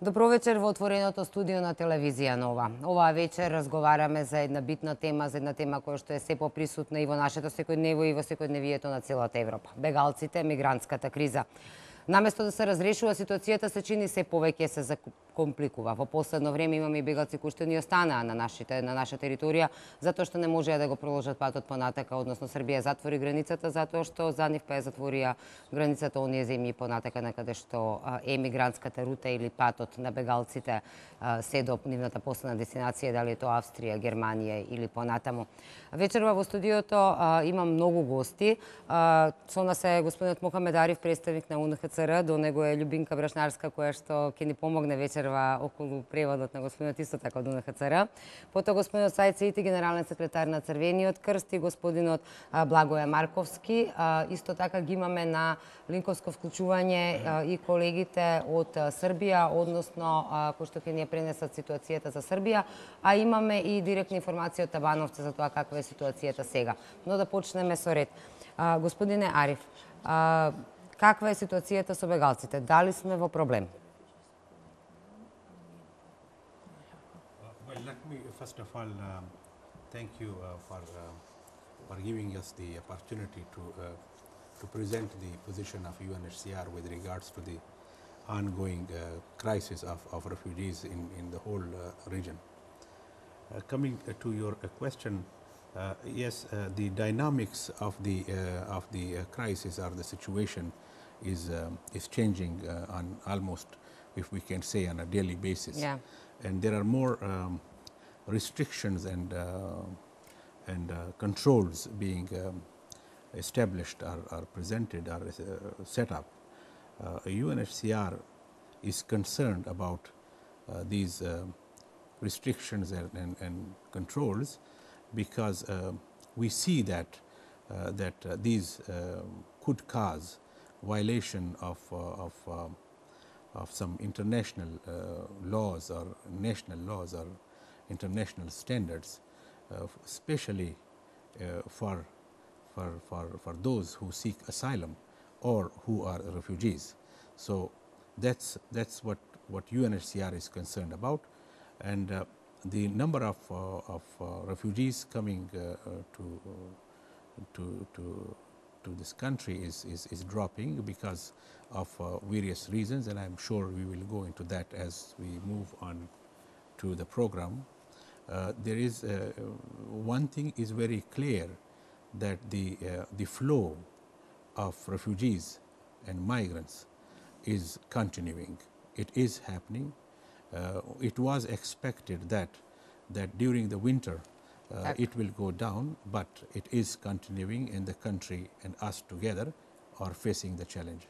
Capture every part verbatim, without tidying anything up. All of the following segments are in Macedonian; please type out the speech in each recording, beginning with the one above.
Добро вечер во отвореното студио на телевизија Нова. Оваа вечер разговараме за една битна тема, за една тема која што е се поприсутна и во нашето секојдневие и во секојдневието на целата Европа. Бегалците, мигрантската криза. Наместо да се разрешува ситуацијата, се чини се повеќе се закомпликува. Во последно време имаме и бегалци кои што ни останаа на нашите на наша територија затоа што не можеа да го продолжат патот понатака, односно Србија затвори границата затоа што за нив па ја затворија границата оние земји понатака на каде што е мигрантската рута или патот на бегалците се до нивната последна дестинација, дали е тоа Австрија, Германија или понатаму. Вечерва во студиото имам многу гости. Со нас е господинот Мохамед Ариф, представник на У Н Х Ц Р, до него е Љубинка Брашнарска, која што ќе ни помогне вечерва околу преводот на господинот исто така од У Н Х Ц Р. Потоа господинот Саид Сеити, генерален секретар на Црвениот крст, и господинот Благоје Марковски. Исто така ги имаме на линковско вклучување и колегите од Србија, односно кои што ќе ни пренесат ситуацијата за Србија, а имаме и директна информација од Табановци за тоа каква е ситуацијата сега. Но да почнеме со ред. Господине Ариф, каква е ситуацијата со бегалците? Дали сме во проблем? Well, let me first of all uh, thank you uh, for uh, for giving us the opportunity to uh, to present the position of U N H C R with regards to the ongoing uh, crisis of, of refugees in, in the whole uh, region. Uh, coming uh, to your uh, question, uh, yes, uh, the dynamics of the uh, of the uh, crisis or the situation is um, is changing uh, on almost, if we can say, on a daily basis. Yeah. And there are more um, restrictions and uh, and uh, controls being um, established or, or presented or uh, set up. Uh, U N H C R is concerned about uh, these uh, restrictions and, and, and controls because uh, we see that uh, that uh, these uh, could cause violation of uh, of um, of some international uh, laws or national laws or international standards, uh, especially uh, for for for for those who seek asylum or who are refugees. So that's that's what what U N H C R is concerned about, and uh, the number of uh, of uh, refugees coming uh, uh, to uh, to to to this country is is, is dropping because of uh, various reasons, and I'm sure we will go into that as we move on to the program. Uh, there is uh, one thing is very clear, that the uh, the flow of refugees and migrants is continuing. It is happening. Uh, it was expected that that during the winter uh, it will go down, but it is continuing, and the country and us together are facing the challenge.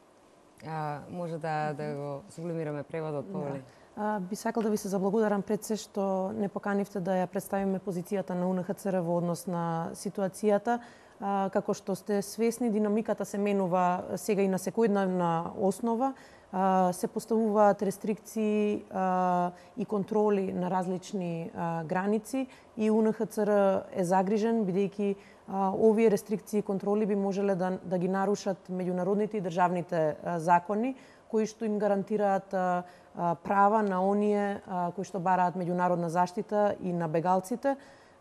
А, може да да го сублимираме преводот повели. Да. Би сакал да ви се заблагодарам пред се што не поканивте да ја представиме позицијата на У Н Х Ц Р во однос на ситуацијата. Како што сте свесни, динамиката се менува сега и на секојдневна основа. Се поставуваат рестрикции и контроли на различни граници и У Н Х Ц Р е загрижен, бидејќи овие рестрикции и контроли би можеле да, да ги нарушат меѓународните и државните закони, кои што им гарантираат права на оние кои што бараат меѓународна заштита и на бегалците.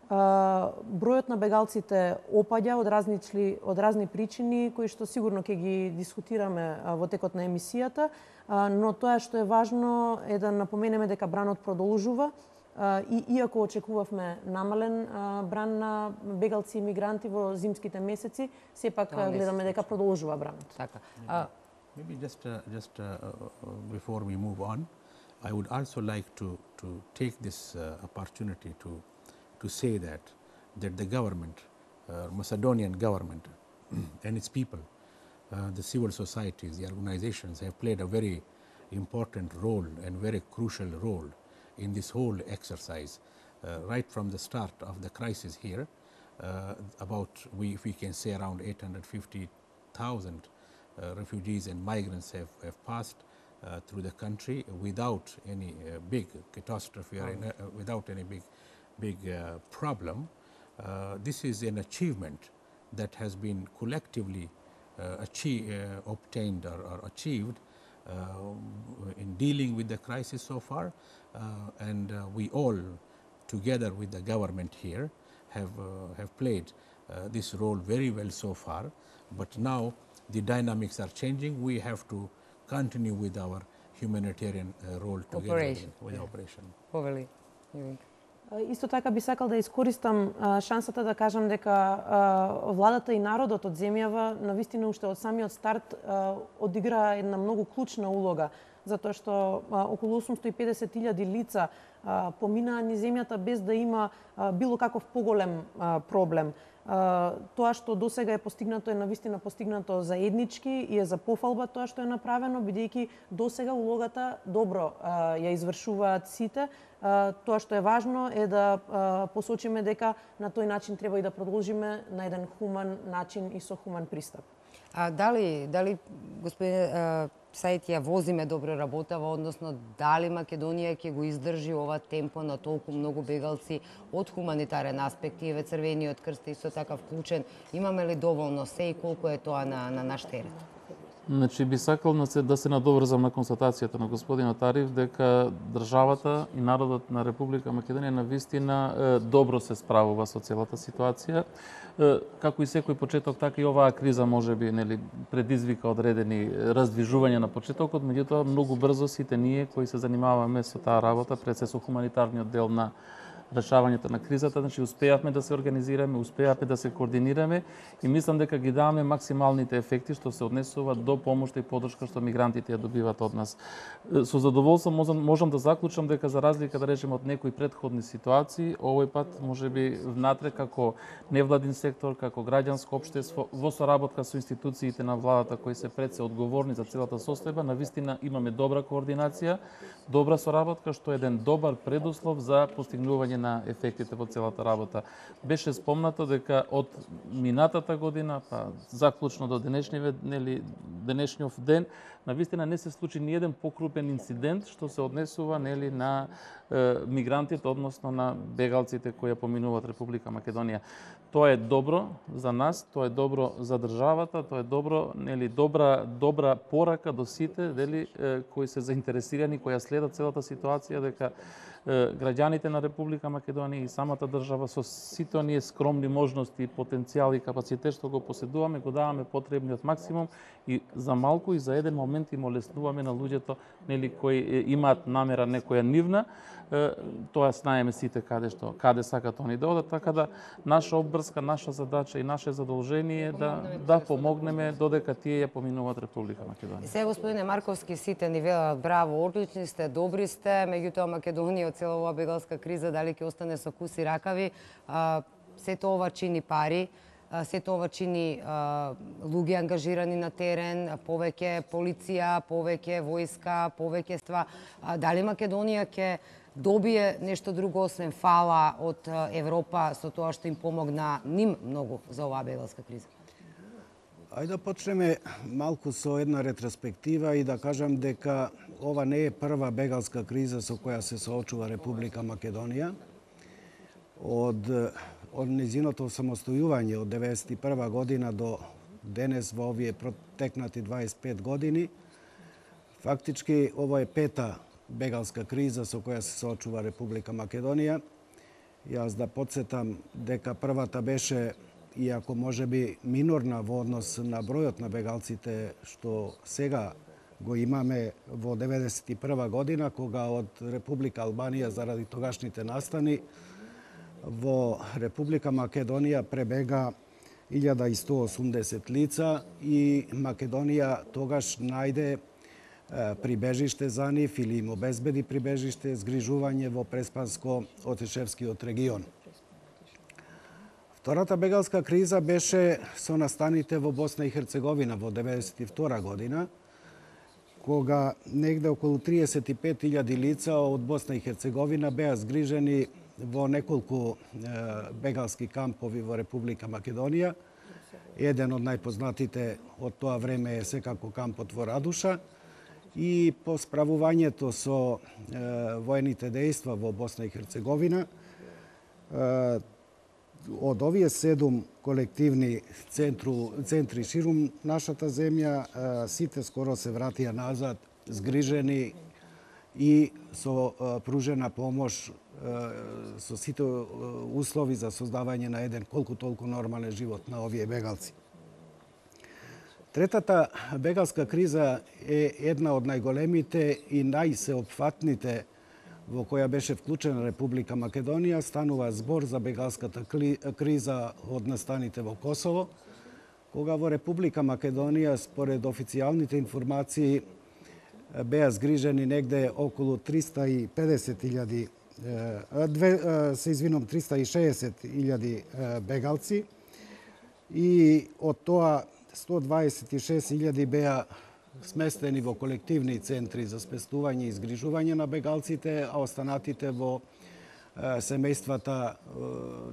Бројот на бегалците опаѓа од различни од разни причини кои што сигурно ќе ги дискутираме во текот на емисијата, но тоа што е важно е да напоменеме дека бранот продолжува и иако очекувавме намален бран на бегалци и мигранти во зимските месеци, сепак гледаме дека продолжува бранот. Така. Maybe just uh, just uh, before we move on, I would also like to to take this uh, opportunity to to say that that the government, uh, Macedonian government and its people, uh, the civil societies, the organizations have played a very important role and very crucial role in this whole exercise. Uh, right from the start of the crisis here, uh, about, we, if we can say, around eight hundred fifty thousand uh, refugees and migrants have, have passed uh, through the country without any uh, big catastrophe or in, uh, without any big big uh, problem. Uh, this is an achievement that has been collectively uh, achieve, uh, obtained or, or achieved uh, in dealing with the crisis so far, uh, and uh, we all, together with the government here, have uh, have played uh, this role very well so far. But now the dynamics are changing. We have to continue with our humanitarian uh, role together Operation. with the operation. Повели. Јовик. Исто така би сакал да искористам а, шансата да кажам дека а, владата и народот од земјава навистина уште од самиот старт а, одигра една многу клучна улога, затоа што а, околу осумстотини и педесет илјади лица а, поминаа низ земјата без да има а, било каков поголем а, проблем. А, тоа што досега е постигнато е навистина постигнато заеднички и е за пофалба тоа што е направено, бидејќи досега улогата добро а, ја извршуваат сите. А, тоа што е важно е да а, посочиме дека на тој начин треба и да продолжиме на еден хуман начин и со хуман пристап. А дали, дали господине Сајд, ја возиме добро работава, односно дали Македонија ќе го издржи ова темпо на толку многу бегалци од хуманитарен аспект, и еве Црвениот крст е исто така вклучен, имаме ли доволно се и колку е тоа на, на наш терен? Значи, би сакал да се надоврзам на констатацијата на господинот Ариф дека државата и народот на Република Македонија навистина добро се справува со целата ситуација. Како и секој почеток, така и оваа криза можеби нели предизвика одредени раздвижувања на почетокот, меѓутоа многу брзо сите ние кои се занимаваме со таа работа, пред се со хуманитарниот дел на решавањето на кризата, значи успеавме да се организираме, успеавме да се координираме и мислам дека ги даваме максималните ефекти што се однесува до помошта и поддршка што мигрантите ја добиваат од нас. Со задоволство можам, можам да заклучам дека за разлика да речеме од некои претходни ситуации, овој пат можеби внатре како невладин сектор, како граѓанско општество, во соработка со институциите на владата кои се пред се одговорни за целата состојба, навистина имаме добра координација, добра соработка што е еден добар предуслов за постигнување на ефектите во целата работа. Беше спомнато дека од минатата година, па заклучно до денешниот нели денешниот ден, навистина не се случи ни еден покрупен инцидент што се однесува нели на е, мигрантите, односно на бегалците кои ја поминуваат Република Македонија. Тоа е добро за нас, тоа е добро за државата, тоа е добро, нели добра добра порака до сите, дели е, кои се заинтересирани, кои ја следат целата ситуација, дека граѓаните на Република Македонија и самата држава со сите оние скромни можности, потенцијал и капацитет што го поседуваме, го даваме потребниот максимум и за малку и за еден момент им олеснуваме на луѓето нели кои имаат намера некоја нивна, тоа знаеме сите каде што каде сакат они да одат, така да наша обврска, наша задача и наше задолжение е да да помогнеме додека тие ја поминуваат Република Македонија. Се господине Марковски, сите ни велат браво, одлични сте, добри сте, меѓутоа Македонија од цела оваа бегалска криза дали ќе остане со куси ракави, а, сето ова чини пари, а, сето ова чини а, луѓе ангажирани на терен, повеќе полиција, повеќе војска, повеќе ства. А, дали Македонија ќе добие нешто друго освен фала од Европа со тоа што им помогна ним многу за оваа бегалска криза? Ајде да почнеме малку со една ретроспектива и да кажам дека ова не е прва бегалска криза со која се соочува Република Македонија. Од, од незиното самостојување од деветдесет и прва година до денес во овие протекнати дваесет и пет години, фактички ова е пета бегалска криза со која се соочува Република Македонија. Јас да подсетам дека првата беше, иако можеби минорна во однос на бројот на бегалците што сега го имаме во деветдесет и прва година, кога од Република Албанија заради тогашните настани во Република Македонија пребега илјада и сто осумдесет лица и Македонија тогаш најде прибежиште за нив или им обезбеди прибежиште, згрижување во Преспанско-Отишевскиот регион. Втората бегалска криза беше со настаните во Босна и Херцеговина во деветдесет и втора година, кога негде околу триесет и пет илјади лица од Босна и Херцеговина беа згрижени во неколку бегалски кампови во Република Македонија. Еден од најпознатите од тоа време е секако кампот во Радуша. И по справувањето со е, воените дејства во Босна и Херцеговина, е, од овие седум колективни центру, центри ширум нашата земја, е, сите скоро се вратија назад згрижени и со пружена помош со сите услови за создавање на еден колку толку нормален живот на овие бегалци. Третата бегалска криза е една од најголемите и најсеопфатните во која беше вклучена Република Македонија. Станува збор за бегалската криза од настаните во Косово, кога во Република Македонија, според официјалните информации, беа згрижени негде околу триста и педесет илјади, се извинувам, триста и шеесет илјади бегалци и од тоа сто дваесет и шест илјади беа сместени во колективни центри за спестување и згрижување на бегалците, а останатите во семејствата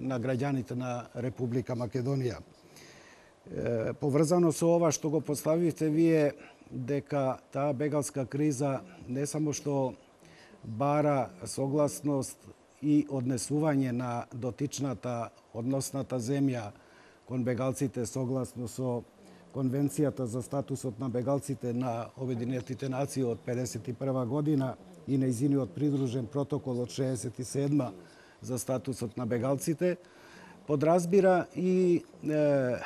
на граѓаните на Република Македонија. Поврзано со ова што го поставивте вие, дека таа бегалска криза не само што бара согласност и однесување на дотичната односната земја кон бегалците согласно со Конвенцијата за статусот на бегалците на Обединетите нации од педесет и прва година и нејзиниот придружен протокол од шеесет и седма за статусот на бегалците, подразбира и е,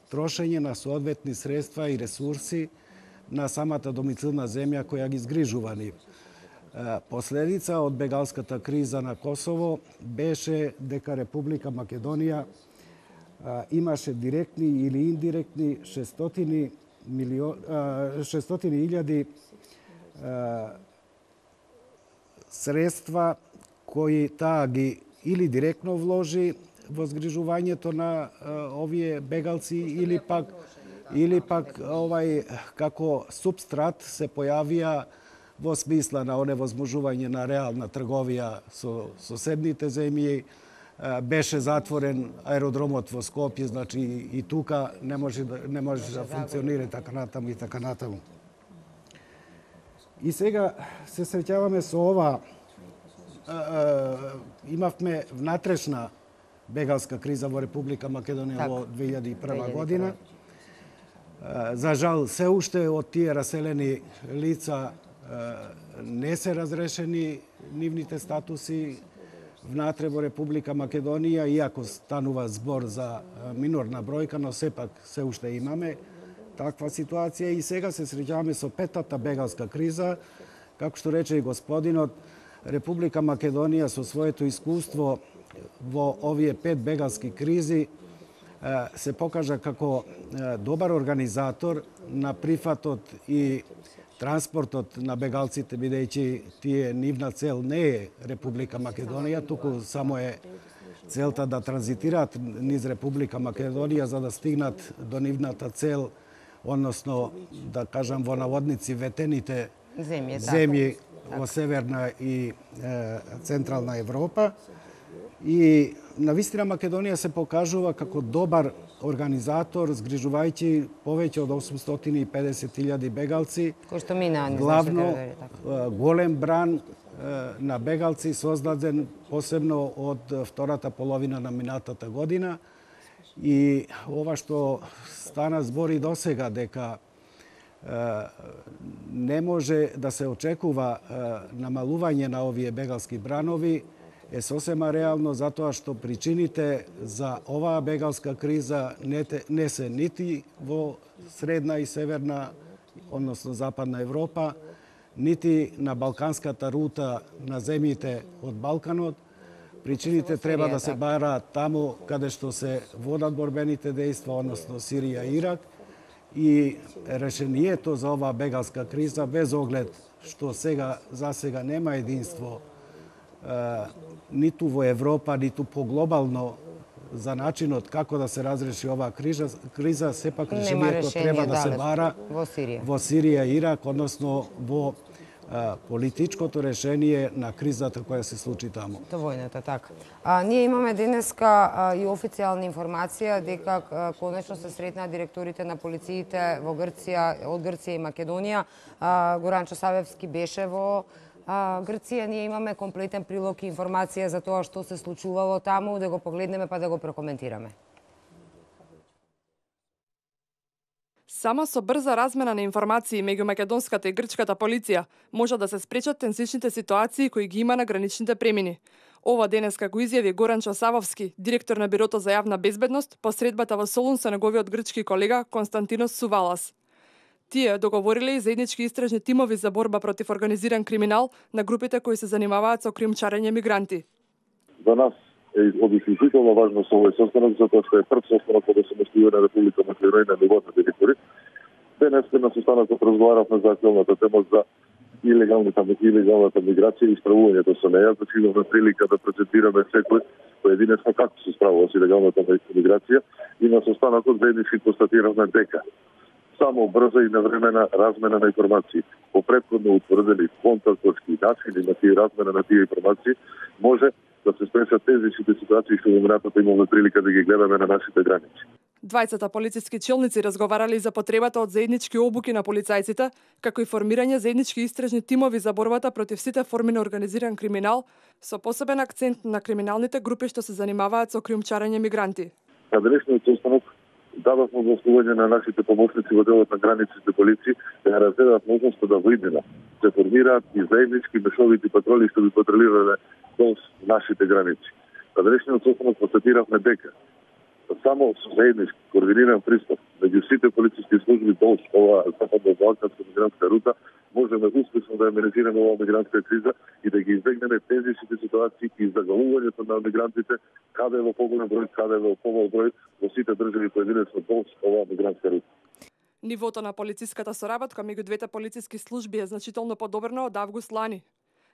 трошење на соодветни средства и ресурси на самата домицилна земја која ги згрижува нив. Последица од бегалската криза на Косово беше дека Република Македонија имаше директни или индиректни шестстотини илјади средства кои таа ги или директно вложи во згрижувањето на овие бегалци или пак или пак овај како субстрат се појавија во смисла на оневозможување на реална трговија со соседните земји. Беше затворен аеродромот во Скопје, значи и тука не може да, не може да функционира така натаму и така натаму. И сега се среќаваме со ова, имавме внатрешна бегалска криза во Република Македонија во две илјади и прва година. За жал, се уште од тие раселени лица не се разрешени нивните статуси внатре во Република Македонија, иако станува збор за минорна бројка, но сепак се уште имаме таква ситуација и сега се среќаваме со петата бегалска криза. Како што рече и господинот, Република Македонија со своето искуство во овие пет бегалски кризи се покажа како добар организатор на прифатот и транспортот на бегалците, бидејќи тие нивна цел не е Република Македонија, туку само е целта да транзитираат низ Република Македонија за да стигнат до нивната цел, односно, да кажам во наводници, ветените земји, земји во Северна и е, Централна Европа. И навистина Македонија се покажува како добар организатор, згрижувајќи повеќе од осумстотини и педесет илјади бегалци. Кој што мина, главно голем бран на бегалци создаден посебно од втората половина на минатата година. И ова што стана збори досега дека не може да се очекува намалување на овие бегалски бранови, е сосема реално затоа што причините за оваа бегалска криза не, те, не се нити во средна и северна, односно западна Европа, нити на балканската рута на земјите од Балканот. Причините треба да се бараат таму каде што се водат борбените дејства, односно Сирија и Ирак. И решението за оваа бегалска криза, без оглед што сега за сега нема единство ниту во Европа, ниту поглобално за начинот како да се разреши оваа криза, криза сепак решението треба да се бара во Сирија. во Сирија и Ирак, односно во а, политичкото решение на кризата која се случи таму. То војната, така. А, ние имаме денеска а, и официјална информација дека а, конечно се сретнаа директорите на полициите во Грција, од Грција и Македонија. А, Горанчо Савевски беше во А, Грција. Ние имаме комплетен прилог и информација за тоа што се случувало таму, да го погледнеме па да го прокоментираме. Само со брза размена на информации меѓу македонската и грчката полиција може да се спречат тензичните ситуации кои ги има на граничните премини. Ова денеска го изјави Горан Часавовски, директор на Бирото за јавна безбедност, по средбата во Солун со неговиот грчки колега Константинос Сувалас. Тие договориле и заеднички истражни тимови за борба против организиран криминал на групите кои се занимаваат со кримчарење мигранти. За нас е од исклучително важно со овој состанок, затоа што е прв состанок од осамостивена Република Македонија на ниво на територија. Денес на состанокот разговаравме за актуелната тема за илегалната илегалната миграција и справувањето со неја, значи имавме прилика да презентираме секој поединечно како се справува со илегалната миграција и на состанокот заеднички констатиравме дека само брза и навремена размена на информации по претходно утврдени контактовски начини на тие размена на тие информации може да се спречат тезичните ситуации што во минатото имаме прилика да ги гледаме на нашите граници. Двајцата полициски челници разговарале за потребата од заеднички обуки на полицајците, како и формирање заеднички истражни тимови за борбата против сите форми на организиран криминал, со посебен акцент на криминалните групи што се занимаваат со криумчарење мигранти. На денешниот состанок дадовме обословување на нашите помошници во делот на границите полиција да разгледаат можноста да во иднина се формираат и заеднички мешовити патроли што би патролирале до нашите граници. На денешниот состанок констатиравме дека само со заеднички координиран пристап меѓу сите полициски служби до ова западно-балканска мигрантска рута можеме успешно да ја менеджираме оваа мигрантска криза и да ги избегнеме тежките ситуации и загалувањето на мигрантите каде во поголем број, каде во помал број во сите држави поединечно до оваа мигрантска рута. Нивото на полициската соработка меѓу двете полициски служби е значително подобрено од август лани.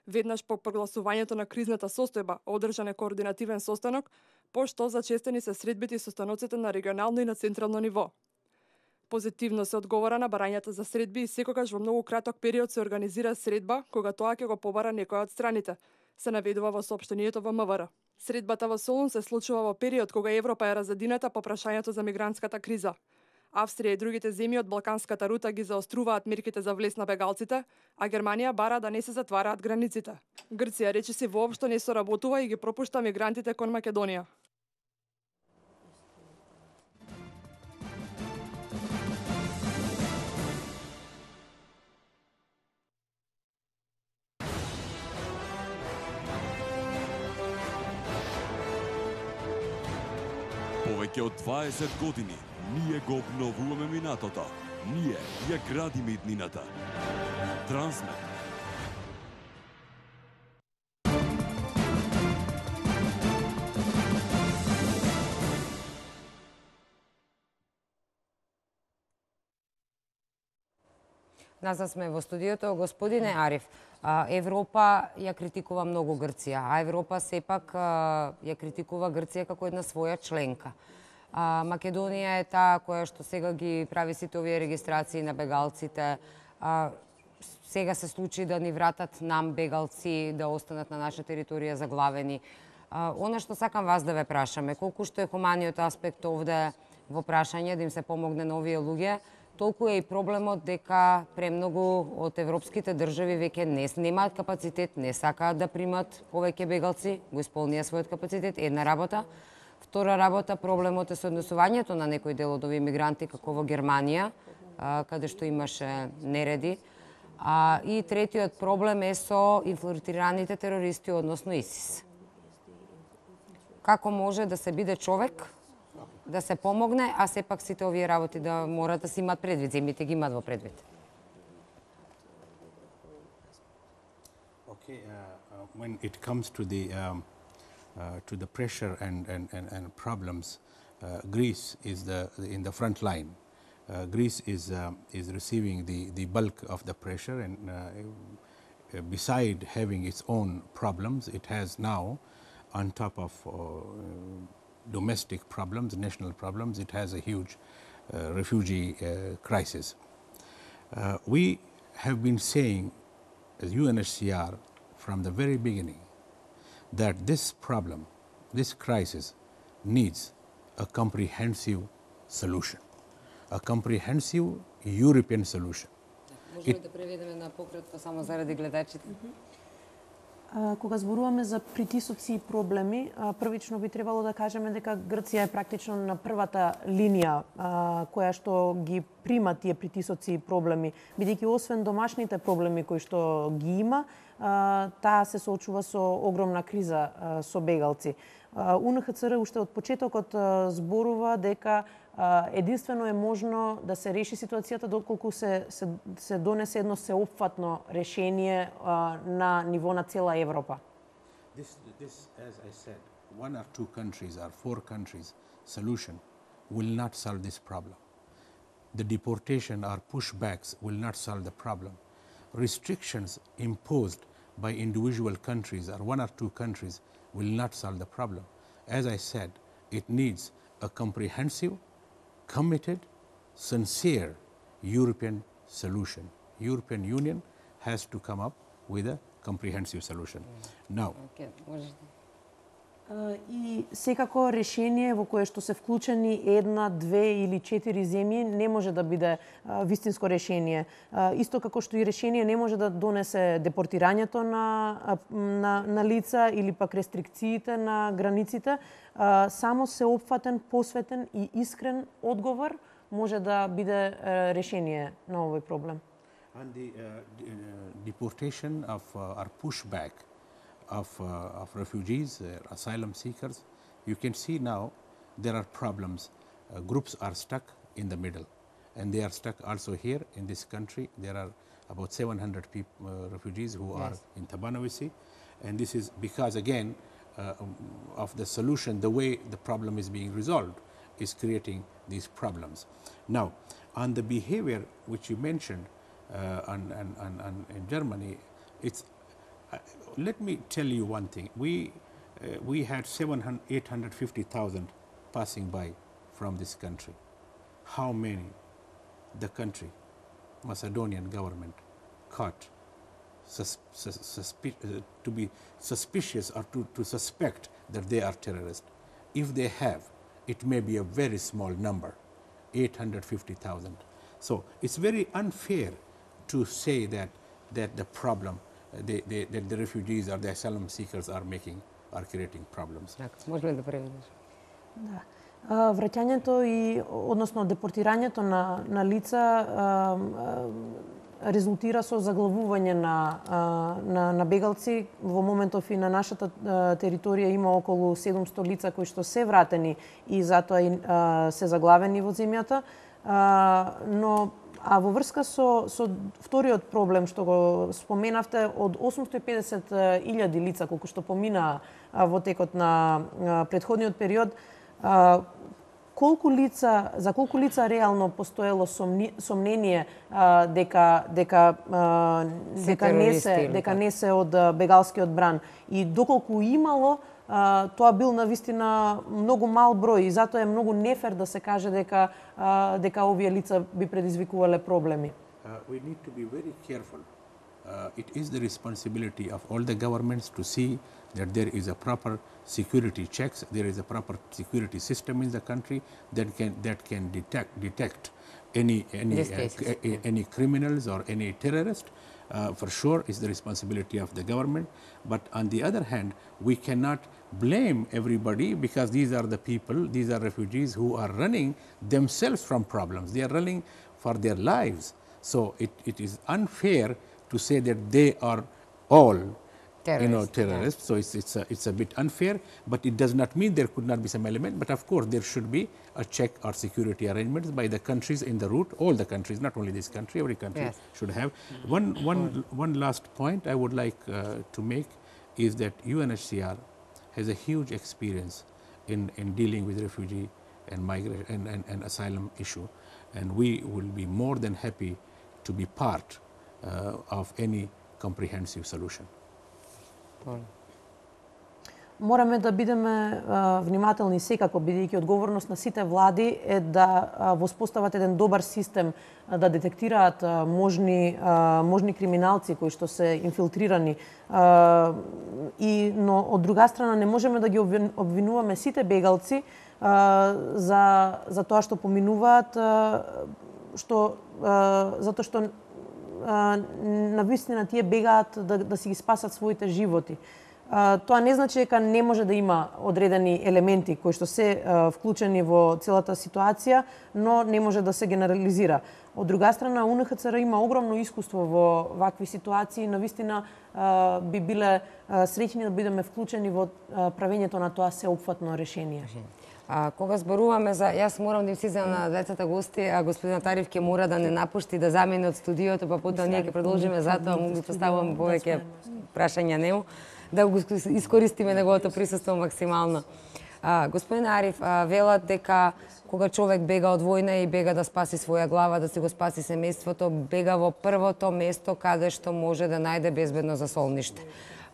Веднаш по прогласувањето на кризната состојба одржан е координативен состанок, пошто зачестени се средбите и состаноците на регионално и на централно ниво. Позитивно се одговора на барањата за средби и секогаш во многу краток период се организира средба кога тоа ќе го побара некоја од страните, се наведува во соопштението во МВР. Средбата во Солун се случува во период кога Европа е разединета по прашањето за мигрантската криза. Австрија и другите земји од Балканската рута ги заоструваат мерките за влез на бегалците, а Германија бара да не се затвараат границите. Грција речиси воопшто не соработува и ги пропушта мигрантите кон Македонија. Повеќе од дваесет години ние го обновуваме минатото. Ние ја градиме иднината. Трансмет. Назад сме во студиото. Господине Ариф, Европа ја критикува многу Грција, а Европа сепак ја критикува Грција како една своја членка. Македонија е таа која што сега ги прави сите овие регистрации на бегалците. Сега се случи да ни вратат нам бегалци да останат на наша територија заглавени. Она што сакам вас да ве прашаме, колку што е хуманиот аспект овде во прашање да им се помогне на овие луѓе, толку е и проблемот дека премногу од европските држави веќе не немаат капацитет, не сакаат да примат повеќе бегалци, го исполнија својот капацитет, една работа. Втора работа, проблемот е со однесувањето на некој дел од овие мигранти, како во Германија, каде што имаше нереди. И третиот проблем е со инфилтрираните терористи, односно ИСИС. Како може да се биде човек, да се помогне, а сепак сите овие работи да морат да се имат предвид, земјите ги имат во предвид? Okay, uh, when it comes to the um, uh, to the pressure and and and, and problems, uh, Greece is the in the front line. Uh, Greece is um, is receiving the the bulk of the pressure, and uh, beside having its own problems, it has now, on top of uh, domestic problems, national problems, it has a huge uh, refugee uh, crisis. Uh, we have been saying, as U N H C R, from the very beginning, that this problem, this crisis, needs a comprehensive solution, a comprehensive European solution. Може ли да преведеме на пократко само заради гледачите? Кога зборуваме за притисоци и проблеми, првично би требало да кажеме дека Грција е практично на првата линија која што ги прима тие притисоци и проблеми, бидејќи освен домашните проблеми кои што ги има, таа се соочува со огромна криза со бегалци. У Н Х Ц Р уште од почетокот зборува дека единствено е можно да се реши ситуацијата доколку се, се, се донесе едно сеопфатно решение на ниво на цела Европа. This, this, as I said, one or two countries or four countries solution will not solve this problem. The deportation or pushbacks will not solve the problem. Restrictions imposed by individual countries or one or two countries will not solve the problem. As I said, it needs a comprehensive, committed, sincere European solution. European Union has to come up with a comprehensive solution. Now, Okay, И секако решение во кое што се вклучени една, две или четири земји не може да биде вистинско решение. Исто како што и решение не може да донесе депортирањето на, на, на лица или пак рестрикциите на границите. Само сеопфатен, посветен и искрен одговор може да биде решение на овој проблем. on the uh, d- uh, deportation of uh, or pushback of, uh, of refugees, uh, asylum seekers, you can see now there are problems. Uh, groups are stuck in the middle, and they are stuck also here in this country. There are about seven hundred peop- uh, refugees who Yes. are in Tabanovisi, and this is because again uh, um, of the solution, the way the problem is being resolved is creating these problems. Now, on the behavior which you mentioned uh, on, on, on, on in Germany, it's uh, let me tell you one thing. We uh, we had seven hundred, eight hundred fifty thousand passing by from this country. How many the country, Macedonian government, caught sus, sus, suspi- uh, to be suspicious or to, to suspect that they are terrorists? If they have, it may be a very small number, eight hundred fifty thousand. So it's very unfair to say that that the problem, uh, they, they, that the refugees or the asylum seekers are making, are creating problems. Така, може ли да преведеш? Да. А, Враќањето и односно депортирањето на на лица а, а, резултира со заглавување на а, на на бегалци. Во моментов и на нашата а, територија има околу седумсто лица кои што се вратени и затоа и а, се заглавени во земјата. А, но а во врска со со вториот проблем што го споменавте, од осумсто и педесет илјади лица колку што поминаа во текот на а, претходниот период, А, колку лица, за колку лица реално постоело сомни, сомнение а, дека дека а, дека не се дека не се од а, бегалскиот бран и доколку имало, а, тоа бил навистина многу мал број и затоа е многу нефер да се каже дека а, дека овие лица би предизвикувале проблеми. Uh, we need to be very careful. Uh, it is the responsibility of all the governments to see that there is a proper security checks, there is a proper security system in the country that can that can detect detect any any These uh, cases, c- a- any criminals or any terrorist. Uh, for sure, is the responsibility of the government. But on the other hand, we cannot blame everybody because these are the people, these are refugees who are running themselves from problems. They are running for their lives. So it, it is unfair to say that they are all, you know, Terrorists, terrorists. So it's it's a, it's a bit unfair, but it does not mean there could not be some element. But of course, there should be a check or security arrangements by the countries in the route. All the countries, not only this country, every country Yes. should have. One one one last point I would like uh, to make is that U N H C R has a huge experience in in dealing with refugee and migration and, and, and asylum issue, and we will be more than happy to be part uh, of any comprehensive solution. Мораме да бидеме а, внимателни секако, бидејќи одговорност на сите влади е да а, воспостават еден добар систем, а, да детектираат а, можни а, можни криминалци кои што се инфилтрирани. А, и но од друга страна не можеме да ги обвин- обвинуваме сите бегалци а, за за тоа што поминуваат, а, што а, затоа што навистина тие бегаат да, да си ги спасат своите животи. А, тоа не значи дека не може да има одредени елементи кои што се а, вклучени во целата ситуација, но не може да се генерализира. Од друга страна, У Н Х Ц Р има огромно искуство во вакви ситуации, навистина а, би биле а, среќни да бидеме вклучени во а, правењето на тоа сеопфатно решение. А, кога зборуваме за... Јас морам да им сизам на двете гости, а господин Атарив ќе мора да не напушти, да замине од студиото, па потоа ние ќе продолжиме, затоа му ги поставувам повеќе прашања нему, да го искористиме неговото присуство максимално. А, господин Ариф, а, велат дека кога човек бега од војна и бега да спаси своја глава, да си го спаси семејството, бега во првото место каде што може да најде безбедно засолниште.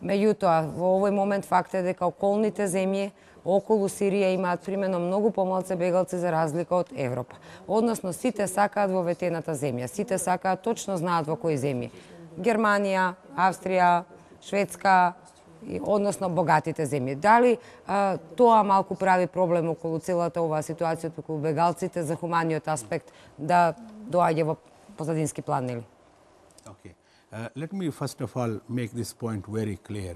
Меѓутоа, во овој момент факт е дека околните земји околу Сирија имаат примено многу помалце бегалци за разлика од Европа. Односно, сите сакаат во ветената земја, сите сакаат, точно знаат во кои земји. Германија, Австрија, Шведска, односно богатите земји. Дали а, тоа малку прави проблем околу целата оваа ситуација, околу бегалците, за хуманиот аспект да доаѓа во позадински план, нели? Okay. Uh, let me first of all make this point very clear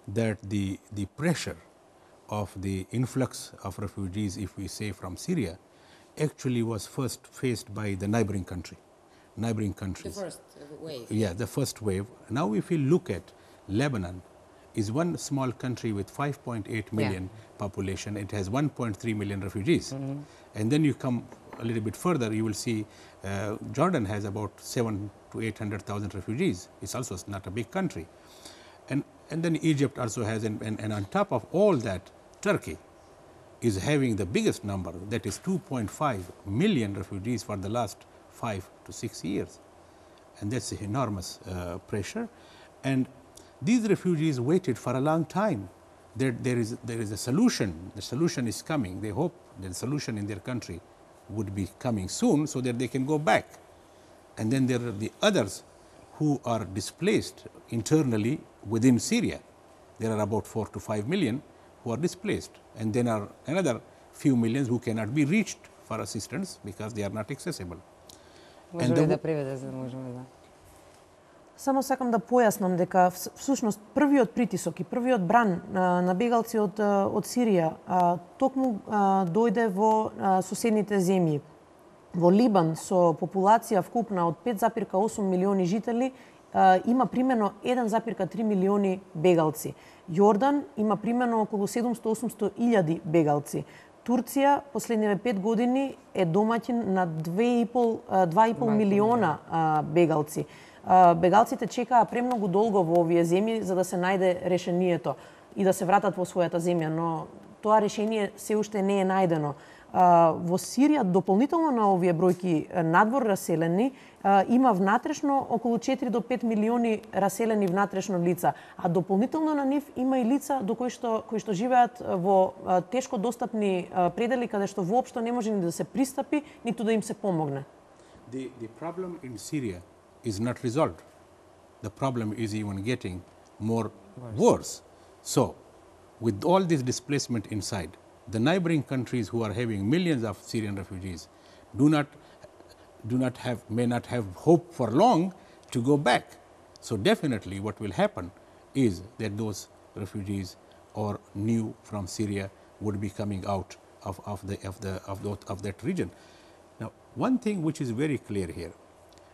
that the, the pressure of the influx of refugees, if we say from Syria, actually was first faced by the neighboring country, neighboring countries. The first wave. Yeah, the first wave. Now if you look at Lebanon, is one small country with five point eight million yeah. population. It has one point three million refugees. Mm-hmm. And then you come a little bit further, you will see uh, Jordan has about seven to eight hundred thousand refugees. It's also not a big country. And, and then Egypt also has, and, and, and on top of all that, Turkey is having the biggest number, that is two point five million refugees for the last five to six years. And that's enormous uh, pressure. And these refugees waited for a long time. There, there, is, there is a solution. The solution is coming. They hope the solution in their country would be coming soon so that they can go back. And then there are the others who are displaced internally within Syria. There are about four to five million who are displaced. And then are another few millions who cannot be reached for assistance because they are not accessible. Може ли да преведе, за да можеме да... Само сакам да појаснам дека всушност првиот притисок и првиот бран а, на бегалци од, од Сирија а, токму а, дојде во а, соседните земји. Во Либан со популација вкупна од пет запирка осум милиони жители а, има примерно еден запирка три милиони бегалци. Јордан има примерно околу седумсто до осумсто илјади бегалци. Турција последниве пет години е домаќин на два и пол милиона а, бегалци. Бегалците чекаа премногу долго во овие земји за да се најде решението и да се вратат во својата земја, но тоа решение се уште не е најдено. Во Сирија, дополнително на овие бројки надвор раселени, има внатрешно околу четири до пет милиони раселени внатрешно лица, а дополнително на нив има и лица до кои што кои што живеат во тешко достапни предели каде што воопшто не може ни да се пристапи, ниту да им се помогне. The, the problem in Syria is not resolved. The problem is even getting more worse. worse. So, with all this displacement inside, the neighboring countries who are having millions of Syrian refugees do not, do not have, may not have hope for long to go back. So, definitely what will happen is that those refugees or new from Syria would be coming out of, of, the, of, the, of, the, of that region. Now, one thing which is very clear here,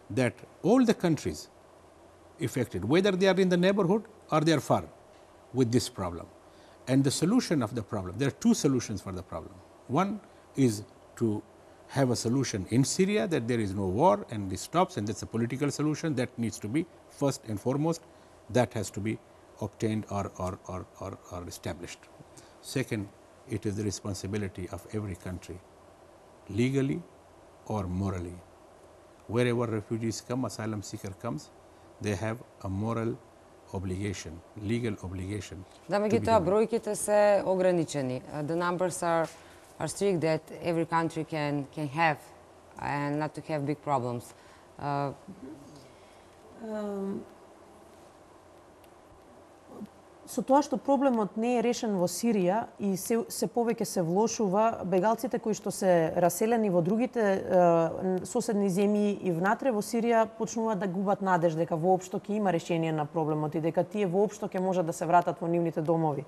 that all the countries affected, whether they are in the neighborhood or they are far with this problem. And the solution of the problem, there are two solutions for the problem. One is to have a solution in Syria that there is no war and this stops, and that's a political solution that needs to be first and foremost, that has to be obtained or, or, or, or, or established. Second, it is the responsibility of every country, legally or morally. Wherever refugees come, asylum seeker comes, they have a moral obligation, legal obligation. Да, меѓутоа бројките се ограничени. The numbers are are strict that every country can can have and not to have big problems. Uh, со тоа што проблемот не е решен во Сирија и се, се повеќе се влошува, бегалците кои што се раселени во другите е, соседни земји и внатре во Сирија почнуваат да губат надеж дека воопшто ќе има решение на проблемот и дека тие воопшто ќе можат да се вратат во нивните домови.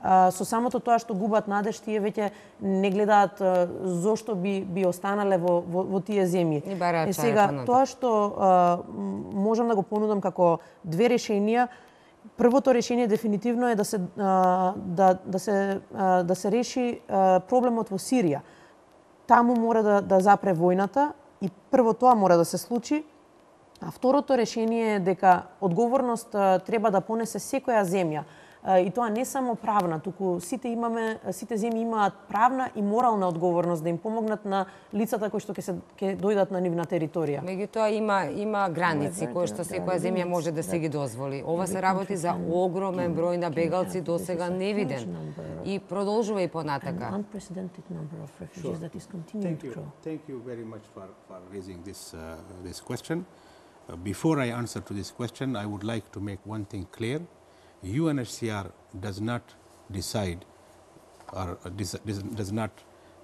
А, со самото тоа што губат надеж, тие веќе не гледаат а, зошто би би останале во во, во тие земји. Е сега тоа што а, можам да го понудам како две решенија. Првото решение дефинитивно е да се да да се да се реши проблемот во Сирија. Таму мора да да запре војната и прво тоа мора да се случи. А второто решение е дека одговорност треба да понесе секоја земја. И тоа не само правна, туку сите имаме, сите земји имаат правна и морална одговорност да им помогнат на лицата кои што ќе се ќе дојдат на нивна територија. Меѓутоа има има граници кои што секоја земја може да се ги дозволи. Ова се работи за огромен број на бегалци досега невиден и продолжува и понатака. Sure. Thank you. Thank you very much for for raising this uh, this question. Uh, before I answer to this question, I would like to make one thing clear. U N H C R does not decide or does not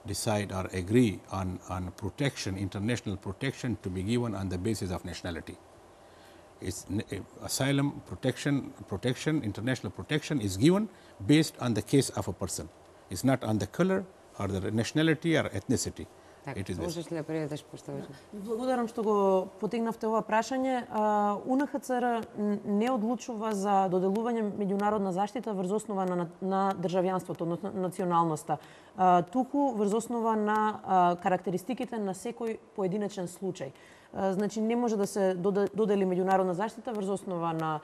decide or agree on, on protection, international protection to be given on the basis of nationality. It's, asylum protection, protection, international protection is given based on the case of a person. It's not on the color or the nationality or ethnicity. Така, можеш ли да преведеш пошто? Благодарам што го потегнавте ова прашање. У Н Х Ц Р не одлучува за доделување меѓународна заштита врз основа на, на државјанството, односно националноста, туку врз основа на карактеристиките на секој поединечен случај. Значи не може да се додели меѓународна заштита врз основа на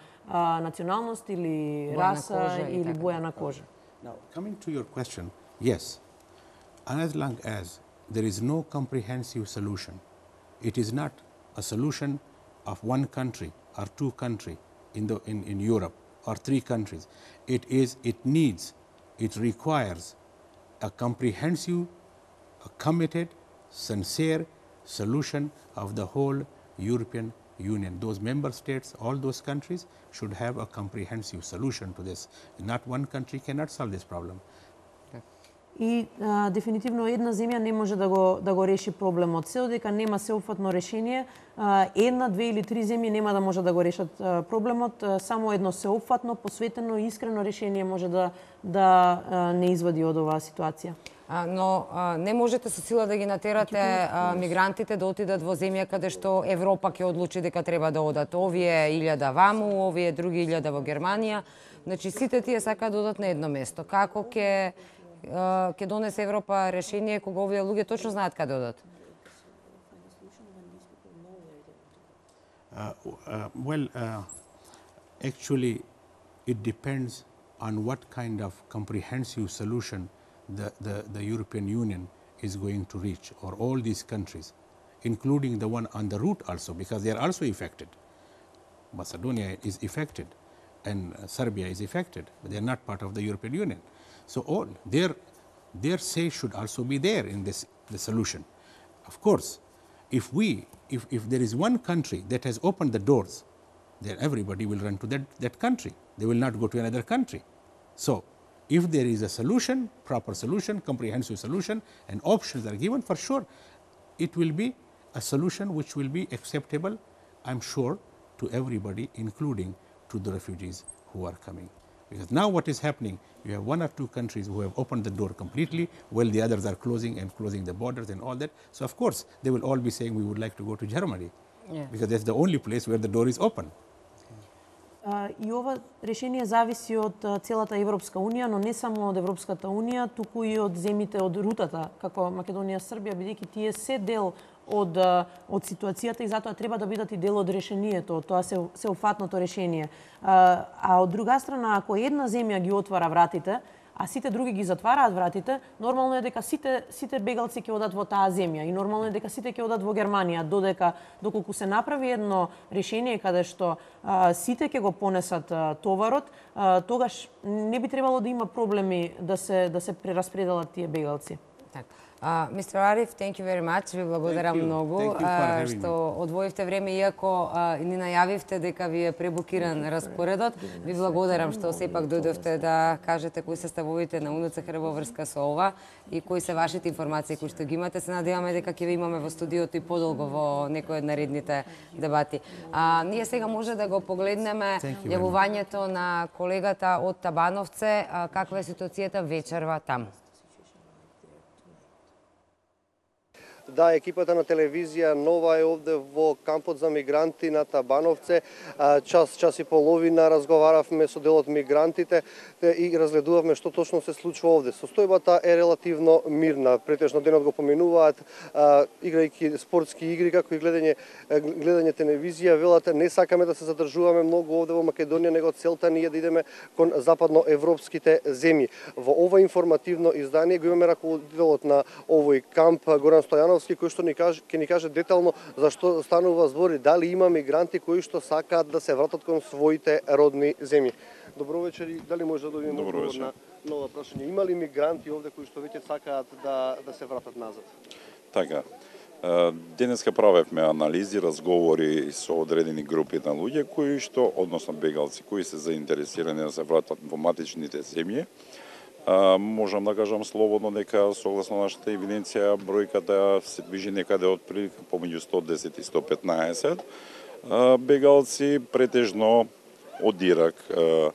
националност или раса или боја на кожа. Now, coming to your question, yes, as long as there is no comprehensive solution. It is not a solution of one country or two countries in, the, in, in Europe or three countries. It is, it needs, it requires a comprehensive, a committed, sincere solution of the whole European Union. Those member states, all those countries should have a comprehensive solution to this. Not one country cannot solve this problem. И а, дефинитивно една земја не може да го да го реши проблемот. Се додека нема сеопфатно решение, а, една, две или три земји нема да може да го решат а, проблемот. А, само едно сеопфатно, посветено и искрено решение може да да а, не извади од оваа ситуација. А, но а, не можете со сила да ги натерате а, мигрантите да отидат во земја каде што Европа ќе одлучи дека треба да одат. Овие илјада ваму, овие други илјада во Германија. Значи сите тие сакаат да одат на едно место. Како ќе ќе донесе Европа решение кога овие луѓе точно знаат каде одат? Uh, uh, well, uh, actually, it depends on what kind of comprehensive solution the, the, the European Union is going to reach, or all these countries, including the one on the route also, because they are also affected. Macedonia is affected, and uh, Serbia is affected, but they are not part of the European Union. So all their their say should also be there in this the solution. Of course, if we if, if there is one country that has opened the doors, then everybody will run to that, that country. They will not go to another country. So if there is a solution, proper solution, comprehensive solution, and options are given, for sure it will be a solution which will be acceptable, I'm sure, to everybody, including to the refugees who are coming. Because now what is happening, you have one or two countries who have opened the door completely, while the others are closing and closing the borders and all that. So of course, they will all be saying we would like to go to Germany, yeah, because that's the only place where the door is open. И ова решение зависи од целата Европска унија, но не само од Европската унија, туку и од земјите од рутата, како Македонија, Србија, бидејќи тие се дел од од ситуацијата и затоа треба да бидат и дел од решението, тоа се сеопфатното решение. А, а од друга страна, ако една земја ги отвара вратите, а сите други ги затвараат вратите, нормално е дека сите сите бегалци ќе одат во таа земја и нормално е дека сите ќе одат во Германија, додека доколку се направи едно решение каде што а, сите ќе го понесат а, товарот, а, тогаш не би требало да има проблеми да се да се прераспределат тие бегалци. Так. Uh, мистер Ариф, thank you very much. Ви благодарам многу uh, што одвоивте време, иако uh, ни најавивте дека ви е пребукиран распоредот. Ви благодарам што сепак дојдовте да кажете кои се ставовите на УНЦХР во врска со ова и кои се вашите информации кои што ги имате. Се надеваме дека ќе ви имаме во студиото и подолго во некој од наредните дебати. Uh, ние сега може да го погледнеме јавувањето на колегата од Табановце, uh, каква е ситуацијата вечерва таму. Да, екипата на телевизија Нова е овде во кампот за мигранти на Табановце. Час, час и половина разговаравме со дел од мигрантите и разгледувавме што точно се случува овде. Состојбата е релативно мирна. Претежно денот го поминуваат, играјќи спортски игри, како и гледање, гледање телевизија. Велат, не сакаме да се задржуваме многу овде во Македонија, него целта ни е да идеме кон западноевропските земји. Во ова информативно издание го имаме раководителот на овој камп, Горан Стојанов, кој што ни каже, ќе ни каже детално зашто станува збори, дали има мигранти кои што сакаат да се вратат кон своите родни земји. Добро вечер, дали може да добиеме одговор на нова прашање? Има ли мигранти овде кои што веќе сакаат да да се вратат назад? Така. Денеска правевме анализи, разговори со одредени групи на луѓе кои што, односно бегалци, кои се заинтересирани да се вратат во матичните земји. А, можам да кажам слободно дека согласно нашата евиденција бројката се движи некаде од прилика помеѓу сто десет и сто петнаесет. А, бегалци претежно од Ирак. А,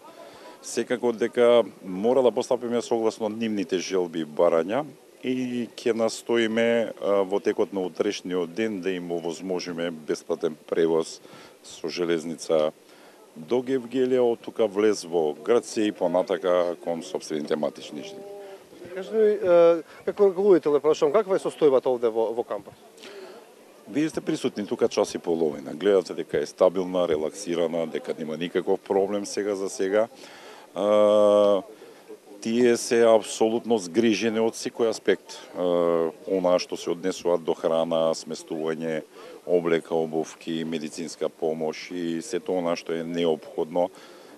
секако дека мора да постапиме согласно нивните желби и барања и ќе настоиме а, во текот на утрешниот ден да им овозможиме бесплатен превоз со железница до Гевгелија, од тука влез во Грција и понатака кон сопствените матични земји. Кажете ми, како раководител, прашувам, каква е состојбата овде во, во кампот? Вие сте присутни тука час и половина. Гледате дека е стабилна, релаксирана, дека нема никаков проблем сега за сега. А, тие се апсолутно згрижени од секој аспект. А, онаа што се однесуваат до храна, сместување, облека, обувки, медицинска помош и сето она што е неопходно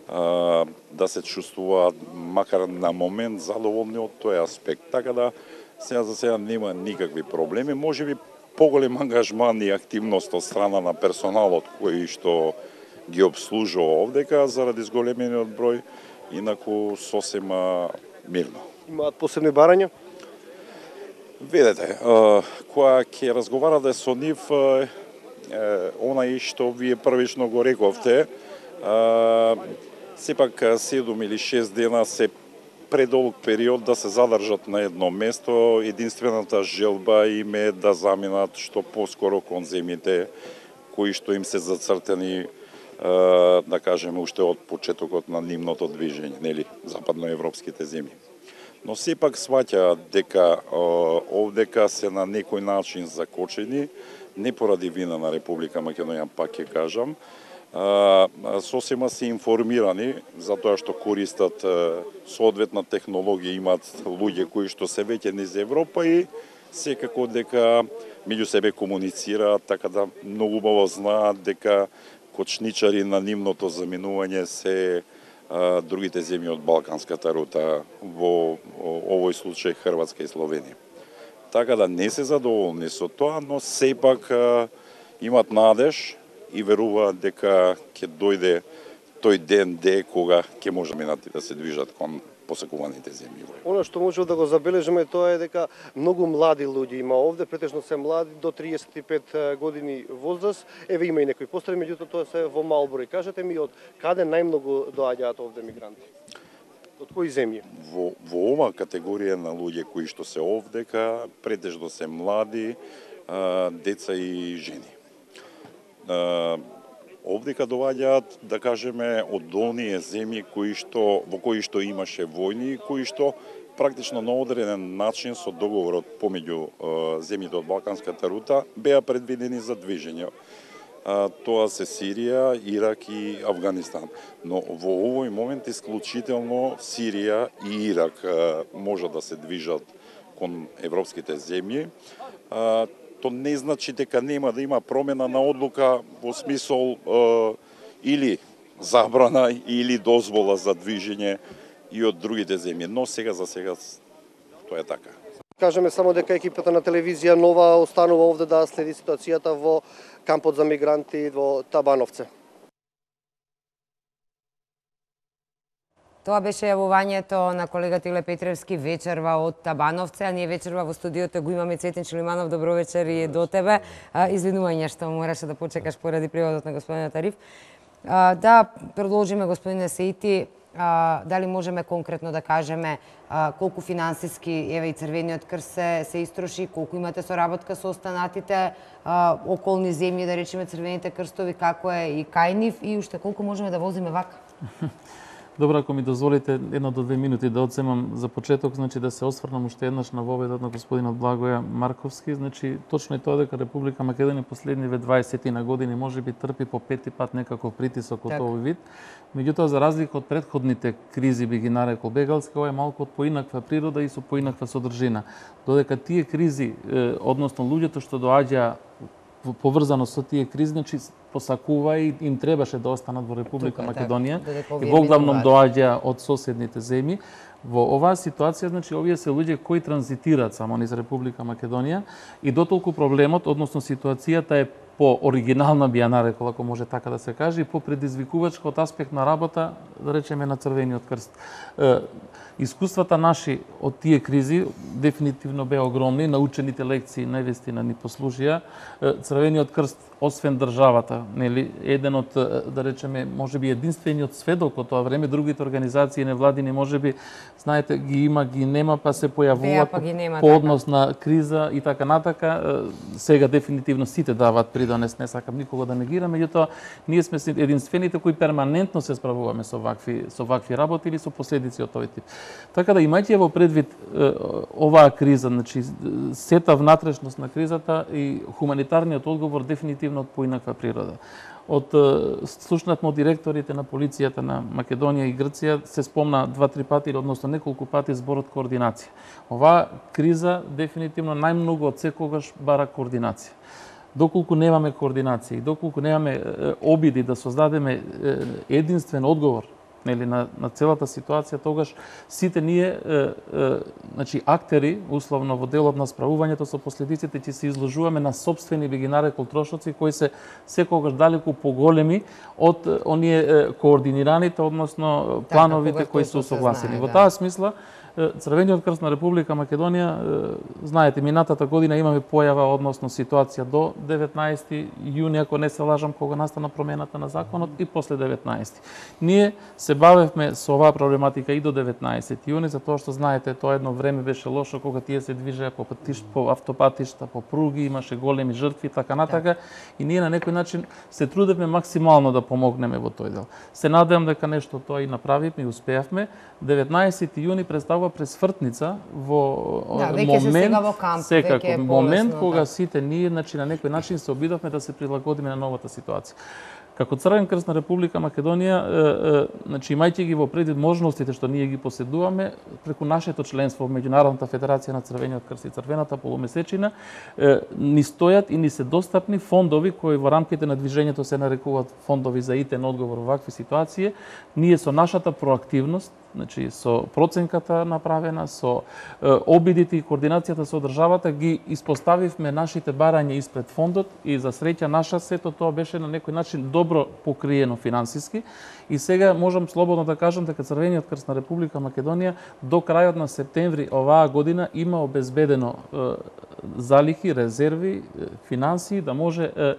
а, да се чувствуваат макар на момент задоволни од тој аспект. Така да сега за сега нема никакви проблеми, можеби поголем ангажман и активност од страна на персоналот кој што ги обслужува овдека заради зголемениот број, инаку сосема мирно. Имаат посебни барања? Видете, која ќе разговарате со нив, онај што вие првично го рековте, сепак седум или шест дена се предолг период да се задржат на едно место. Единствената желба им е да заминат што поскоро кон земјите кои што им се зацртени, да кажеме, уште од почетокот на нивното движење, нели, западноевропските земји. Но сепак сваќаат дека овдека се на некој начин закочени, не поради вина на Република Македонија, пак ќе кажам, сосема се информирани за тоа што користат соодветна технологија, имаат луѓе кои што се веќе низ Европа и секако дека меѓу себе комуницираат, така да многу убаво знаат дека кочничари на нивното заминување се а, другите земји од Балканската рута, во овој случај Хрватска и Словенија. Така да не се задоволни со тоа, но сепак а, имат надеж и веруваат дека ќе дојде тој ден де кога ќе може минати да се движат кон посекуваните земји. Оно што може да го забележиме тоа е дека многу млади луѓе има овде, претежно се млади до триесет и пет години возраст. Еве има и некои постари, меѓутоа тоа се во мал број. Кажете ми од каде најмногу доаѓаат овде мигранти? Од кои земји? Во, во ова категорија на луѓе кои што се овдека, претежно се млади, а, деца и жени. А, Овдека доаѓаат, да кажеме, од оние земји кои што, во кои што имаше војни и кои што практично на одреден начин со договорот помеѓу е, земјите од Балканската рута беа предвидени за движење. А, тоа се Сирија, Ирак и Авганистан. Но во овој момент исклучително Сирија и Ирак а, може да се движат кон европските земји. А, То не значи дека нема да има промена на одлука во смисол е, или забрана или дозвола за движење и од другите земји. Но сега за сега тоа е така. Кажеме само дека екипата на телевизија Нова останува овде да следи ситуацијата во кампот за мигранти во Табановце. Тоа беше јавувањето на колегата Иле Петревски вечерва од Табановце, а ние вечерва во студиото го имаме Цветин Чулиманов. Добро вечер и до тебе. Извинување што мораше да почекаш поради преводот на господинот Ариф. Да продолжиме, господине Сеити, дали можеме конкретно да кажеме колку финансиски, еве и Црвениот крст се, се истроши, колку имате соработка со останатите околни земји, да речеме Црвените крстови, како е и кај нив, и уште колку можеме да возиме вака? Добро, ако ми дозволите едно до две минути да одземам за почеток, значи да се осврнам уште еднаш на воведот на господинот Благоја Марковски. Значи точно е тоа дека Република Македонија последниве дваесет на години можеби трпи по пети пат некаков притисок од так. овој вид. Меѓутоа, за разлика од претходните кризи, би ги нарекол бегалски, ова е малку од поинаква природа и со поинаква содржина. Додека тие кризи, односно луѓето што доаѓа поврзано со тие кризи, значи посакува и им требаше да останат во Република Тука, Македонија, така, и во главном доаѓа од соседните земји. Во оваа ситуација, значи, овие се луѓе кои транзитираат само низ Република Македонија и дотолку проблемот, односно ситуацијата е по оригинална, би ја нарекол, ако може така да се каже, и по предизвикувачка од аспект на работа, да речеме, на Црвениот крст. Искуствата наши од тие кризи дефинитивно беа огромни, научените лекции наивистина ни послужија. Црвениот крст, освен државата, нели, еден од, да речеме, можеби единствениот сведок од тоа време, другите организации невладини можеби, знаете, ги има, ги нема, па се појавуваат па нема, по однос на криза и така натака. Сега дефинитивно сите даваат придонес, не сакам никого да негирам, меѓутоа ние сме единствените кои перманентно се справуваме со вакви со вакви работи или со последици од овој тип. Така да, имајќи во предвид оваа криза, значи сета внатрешност на кризата и хуманитарниот одговор дефинитивно од поинаква природа. Од слушнавме од директорите на полицијата на Македонија и Грција се спомна два-три пати, односно неколку пати зборот координација. Оваа криза дефинитивно најмногу од секогаш бара координација. Доколку немаме координација и доколку немаме обиди да создадеме единствен одговор, нели, на, на целата ситуација, тогаш сите ние, е, е, значи, актери, условно во делот на справувањето со последиците, ќе се изложуваме на собствени, би ги нарекол, трошоци, кои се секогаш далеку поголеми од оние е, координираните, односно плановите кои се усогласени. Во таа смисла, Црвениот крст на Република Македонија, знаете, минатата година имаме појава, односно ситуација до деветнаесети јуни, ако не се лажам, кога настана промената на законот, и после деветнаесети. Ние се бавевме со оваа проблематика и до деветнаесети јуни, затоа што, знаете, тоа едно време беше лошо, кога тие се движеа по патишта, по автопатишта, по пруги, имаше големи жртви, така натака, и ние на некој начин се трудевме максимално да помогнеме во тој дел. Се надевам дека нешто тоа и направивме и успеавме. деветнаесети јуни представува пресвртница во да, момент, во камп, секако, е момент полесно, кога да. Сите ние, значи, на некој начин се обидовме да се прилагодиме на новата ситуација. Како Црвен крст на Република Македонија, е, е, значи, имајќи ги во предвид можностите што ние ги поседуваме, преку нашето членство во Меѓународната федерација на Црвениот крст и Црвената полумесечина, е, ни стојат и ни се достапни фондови кои во рамките на движењето се нарекуваат фондови за итен одговор во вакви ситуации. Ние со нашата проактивност, значи со проценката направена, со е, обидите и координацијата со државата, ги испоставивме нашите барања испред фондот и за среќа наша сето тоа беше на некој начин добро покриено финансиски. И сега можам слободно да кажам дека Црвениот крст на Република Македонија до крајот на септември оваа година има обезбедено е, залихи, резерви, финансии да може е,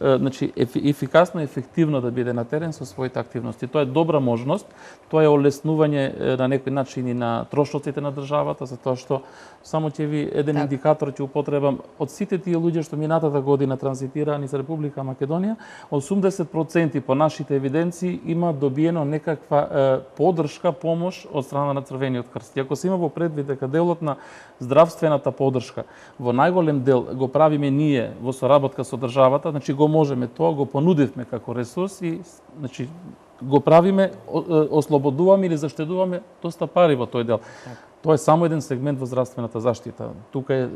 е, значи, ефикасно и ефективно да биде на терен со своите активности. Тоа е добра можност, тоа е олеснување на некој начин и на трошоците на државата, затоа што само ќе ви еден так. индикатор ќе употребам од сите тие луѓе што минатата година транзитираа низ Република Македонија, осумдесет проценти по нашите евиденции има добиено некаква е, поддршка, помош од страна на Црвениот крст. И ако се има во предвид дека делот на здравствената поддршка во најголем дел го правиме ние во соработка со државата, значи го можеме тоа, го понудивме како ресурс и значи го правиме, ослободуваме или заштедуваме доста пари во тој дел. Тоа е само еден сегмент во здравствената заштита. Тука е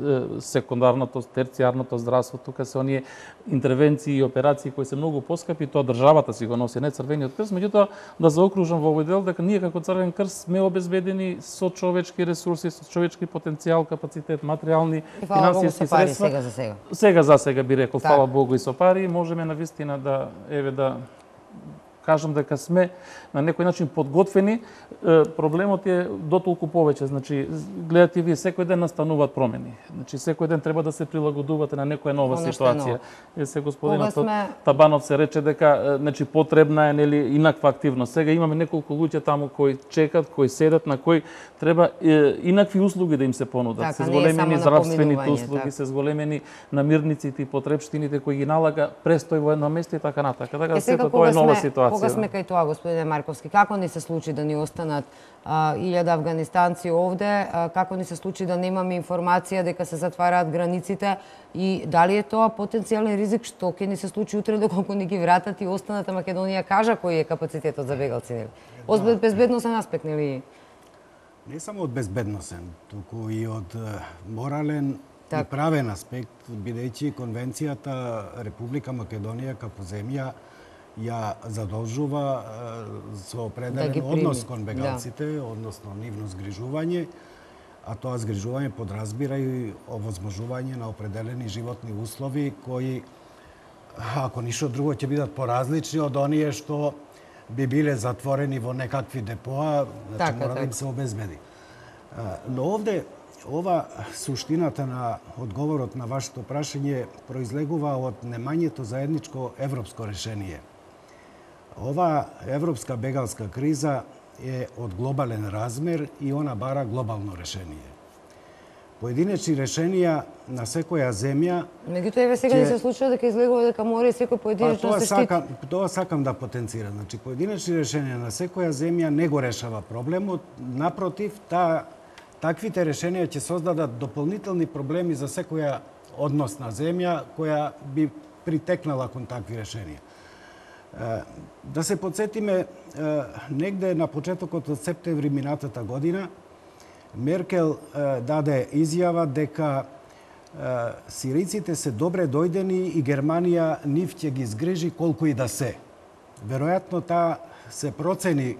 секундарното, терцијарното здравство, тука се оние интервенции и операции кои се многу поскапи, тоа државата си го носи, не Црвениот крст, меѓутоа да заокружам во овој дел дека ние како Црвен крст сме обезбедени со човечки ресурси, со човечки потенцијал, капацитет, материјални, финансиски средства. Сега за сега. Сега за сега би рекол, фала Богу и со пари, можеме навистина да еве да кажам дека сме на некој начин подготвени. Проблемот е дотолку повеќе. Значи, гледате вие, секој ден настануваат промени. Значи, секој ден треба да се прилагодувате на некоја нова Оно ситуација. Е, се господинот сме... Табанов се рече дека значи, потребна е нели, инаква активност. Сега имаме неколку луѓе таму кои чекат, кои седат, на кои треба е, инакви услуги да им се понудат. Така, се зголемени здравствените услуги, така. се зголемени намирниците и потребштините кои ги налага престој во едно место и така натака. Така, сето тоа е нова ситуација. Кога сме кај тоа, господине Марковски, како ни се случи да ни останат илјада афганистанци овде, а, како ни се случи да немаме информација дека се затвараат границите и дали е тоа потенцијален ризик што ќе ни се случи утре доколку ни ги вратат и останата Македонија кажа кој е капацитетот за бегалци, нели? Од безбедносен аспект, нели? Не само од безбедносен, туку и од морален так. и правен аспект, бидејќи конвенцијата Република Македонија како земја ја задолжува со определен да однос кон бегалците, да. односно нивно згрижување, а тоа згрижување подразбира и овозможување на определени животни услови кои, ако ништо друго, ќе бидат поразлични од оние што би биле затворени во некакви депоа, значи така, мора да им така. се обезбеди. Но овде, ова суштината на одговорот на вашето прашање произлегува од немањето заедничко европско решение. Ова европска бегалска криза е од глобален размер и она бара глобално решение. Поединечни решенија на секоја земја... Меѓутоа, еве сега ни се случува дека излегува дека мора и секој поединечно па, се штити. Сакам, тоа сакам да потенцирам. Значи, поединечни решенија на секоја земја не го решава проблемот. Напротив, та, таквите решенија ќе создадат дополнителни проблеми за секоја односна земја која би притекнала кон такви решенија. Да се подсетиме, негде на почетокот од септември минатата година, Меркел даде изјава дека сириците се добре дојдени и Германија нив ќе ги згрижи колку и да се. Веројатно таа се процени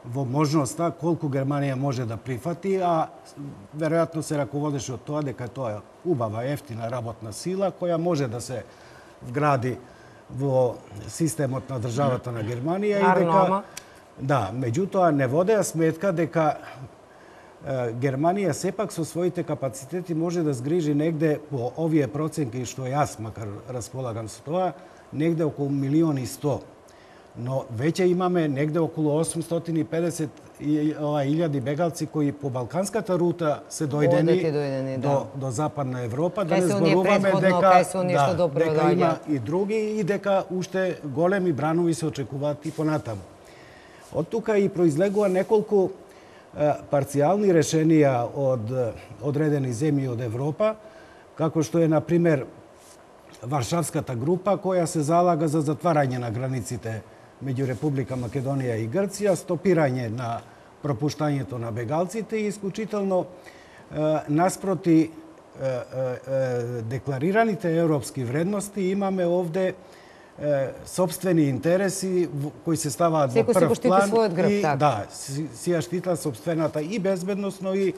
во можноста колку Германија може да прифати, а веројатно се раководеше од тоа дека тоа е убава, ефтина работна сила која може да се вгради во системот на државата на Германија и дека да, меѓутоа не водеа сметка дека Германија сепак со своите капацитети може да згрижи негде по овие проценки што јас макар располагам со тоа, негде околу милион и сто. Но веќе имаме негде околу осумстотини и педесет илјади бегалци кои по балканската рута се дојдени, дојдени до, да. до Западна Европа, да кај не се оние зборуваме дека, да, дека има и други и дека уште големи бранови се очекуваат и понатаму. Од тука и произлегува неколку парцијални решенија од одредени земји од Европа, како што е, например, Варшавската група, која се залага за затварање на границите меѓу Република Македонија и Грција, стопирање на пропуштањето на бегалците и исклучително наспроти декларираните европски вредности имаме овде сопствени интереси кои се ставаат во прв план грб, и так. да, си, си ја штита сопствената и безбедносно и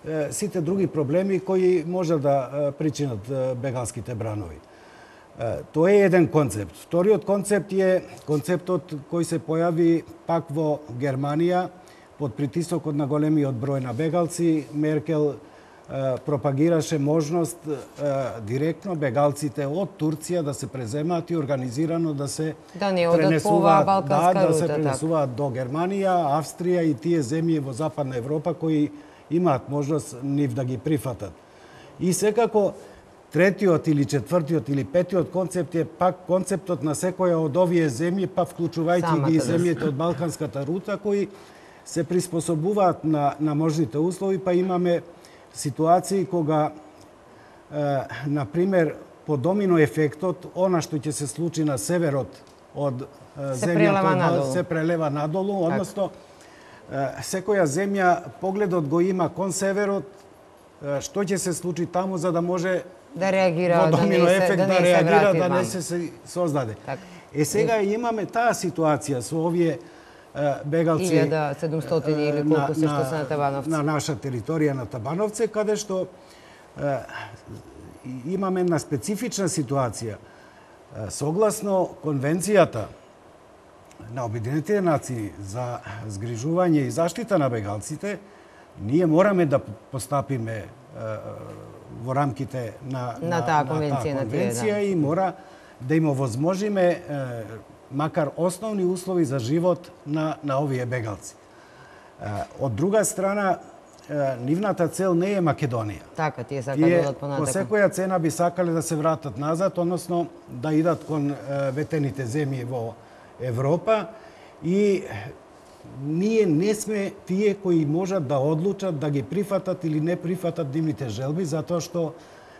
е, сите други проблеми кои може да причинат бегалските бранови. Е, тоа е еден концепт. Вториот концепт е концептот кој се појави пак во Германија под притисокот на големиот број на бегалци. Меркел пропагираше можност директно бегалците од Турција да се преземаат и организирано да се да не одат по оваа балканска да, да рута, се пренесуваат до Германија, Австрија и тие земји во Западна Европа кои имаат можност нив да ги прифатат. И секако третиот или четвртиот или петиот концепт е пак концептот на секоја од овие земји, па вклучувајќи ги и земјите од балканската рута кои се приспособуваат на на можните услови, па имаме ситуации кога, е, например, по домино ефектот, она што ќе се случи на северот од се земјата прелева од- надолу. се прелева надолу, односно е, секоја земја погледот го има кон северот, е, што ќе се случи таму за да може Да реагира, во да домино не се, ефект да да, не се реагира, врати да ван. не се се создаде. Така. Е сега имаме таа ситуација со овие е, бегалци илјада и седумстотини или колку се што се на Табановци. на наша територија на Табановце, каде што е, имаме една специфична ситуација. Е, Согласно конвенцијата на Обединетите нации за згрижување и заштита на бегалците, ние мораме да постапиме е, во рамките на, На таа конвенција, на тие, конвенција да. и мора да им овозможиме е, макар основни услови за живот на, на овие бегалци. Е, Од друга страна, е, нивната цел не е Македонија. Така, тие сакаат да Тие одат по понатаку. секоја цена би сакале да се вратат назад, односно да идат кон е, ветените земји во Европа и ние не сме тие кои можат да одлучат да ги прифатат или не прифатат нивните желби, затоа што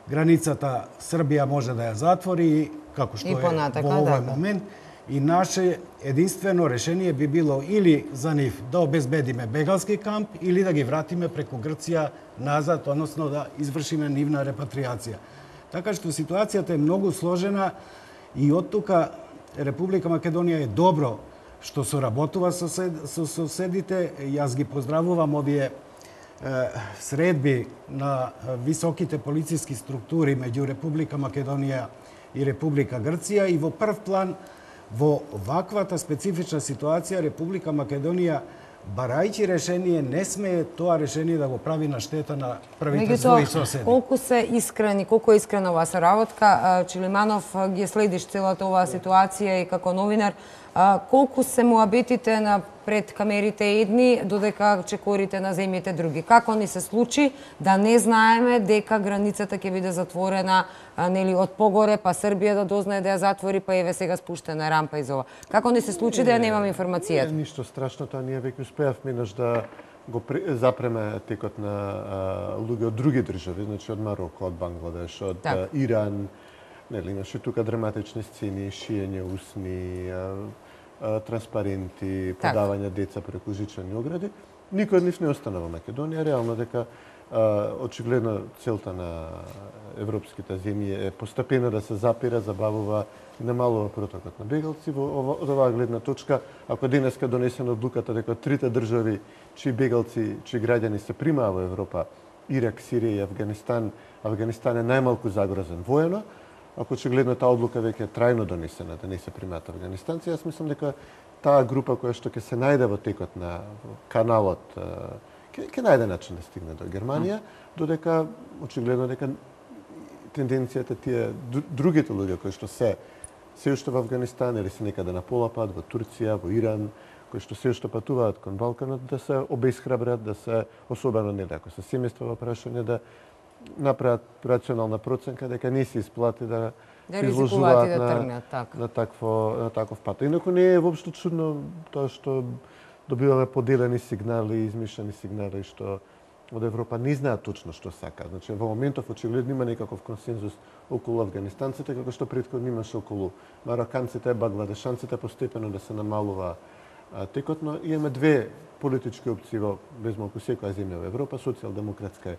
границата Србија може да ја затвори, како што И е понатака, во овој да. момент. И наше единствено решение би било или за нив да обезбедиме бегалски камп или да ги вратиме преку Грција назад, односно да извршиме нивна репатриација. Така што ситуацијата е многу сложена и од тука Република Македонија е добро што соработува со, сед, со соседите. Јас ги поздравувам овие е, средби на високите полициски структури меѓу Република Македонија и Република Грција и во прв план во ваквата специфична ситуација Република Македонија барајќи решение не смее тоа решение да го прави на штета на првите своји соседи. Колку се искрени, колку е искрена оваа соработка, Чилиманов ги следиш целата оваа ситуација и како новинар, колку се муабетите на пред камерите едни, додека чекорите на земјите други. Како ни се случи да не знаеме дека границата ќе биде затворена, нели од погоре, па Србија да дознае да ја затвори, па еве сега спуштена рампа из ова. Како ни се случи да ја немаме информацијата? Не, ништо страшно, тоа ние веќе успеавме наш да го запреме текот на а, луѓе од други држави, значи од Мароко, од Бангладеш, од Так. а, Иран, нели имаше тука драматични сцени, шиење усни, а, а, транспаренти, Так. подавање деца преку жичени огради. Никој од нив не остана во Македонија, реално дека а, очигледно целта на европските земји е постепено да се запира, забавува и намалува протокот на бегалци. Во ова, од оваа гледна точка, ако денеска донесена одлуката дека трите држави чии бегалци, чии граѓани се примаа во Европа, Ирак, Сирија и Афганистан, Афганистан е најмалку загрозен воено, ако очигледно таа одлука веќе е трајно донесена да не се примаат афганистанци, јас мислам дека таа група која што ќе се најде во текот на каналот ќе ќе најде начин да стигне до Германија, додека очигледно дека тенденцијата тие другите луѓе кои што се се уште во Афганистан или се некаде на пола пат во Турција, во Иран, кои што се уште патуваат кон Балканот, да се обесхрабрат, да се особено не ако се семејства во прашање да направат рационална проценка дека не се исплати да Да се ризикуваат изложуваат и да на, тргнат, така. на такво на таков пат. Инаку не е воопшто чудно тоа што добиваме поделени сигнали, измишани сигнали што од Европа не знаат точно што сака. Значи во моментов очигледно има некаков консензус околу афганистанците како што претходно имаше околу мароканците, бангладешанците, постепено да се намалува а, текот, но имаме две политички опции во безмалку секоја земја во Европа, социјалдемократска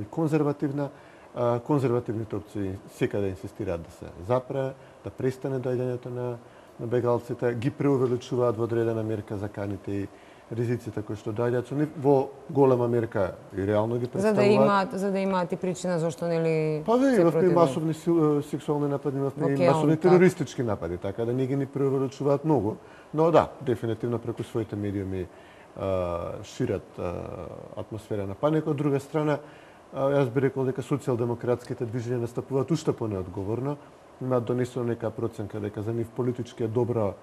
и конзервативна. А, конзервативните опции секаде инсистираат да се запре, да престане доаѓањето на, на бегалците, ги преувеличуваат во одредена мерка заканите и ризиците кои што доаѓаат со нив, во голема мерка и реално ги За представуваат. да имаат, за да имаат и причина зашто нели Па ве, се имавме и противат. масовни сил- сексуални напади, имавме Во и Келн, масовни така. терористички напади, така да не ги ни преувеличуваат многу. Но да, дефинитивно преку своите медиуми а, шират а, атмосфера на паника. Од друга страна, а, јас би рекол дека социјалдемократските движења настапуваат уште понеодговорно. Имаат донесено нека проценка дека за нив политички е добро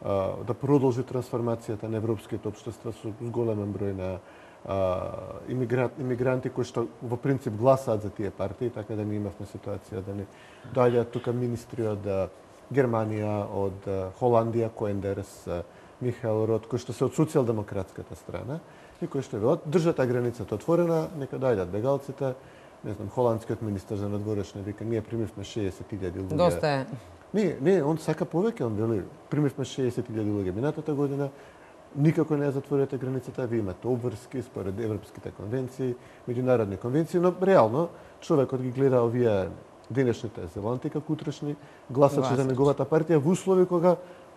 а, да продолжи трансформацијата на европските општества со големен број на а, имигрант, имигранти кои што во принцип гласаат за тие партии, така да не имавме ситуација да не доаѓаат тука министри од а, Германија, од а, Холандија, Коендерс, а, Михаел Рот, кои што се од социјалдемократската страна и кои што велат држат границата отворена, нека доаѓаат бегалците. Не знам, холандскиот министер за надворешни вика ние примивме шеесет илјади луѓе. Доста е. Не, не, он сака повеќе, он вели, примивме шеесет илјади луѓе минатата година, никако не ја затворете границата, вие имате обврски според европските конвенции, меѓународни конвенции, но реално човекот ги гледа овие денешните зеланти како утрешни гласачи за неговата партија во услови кога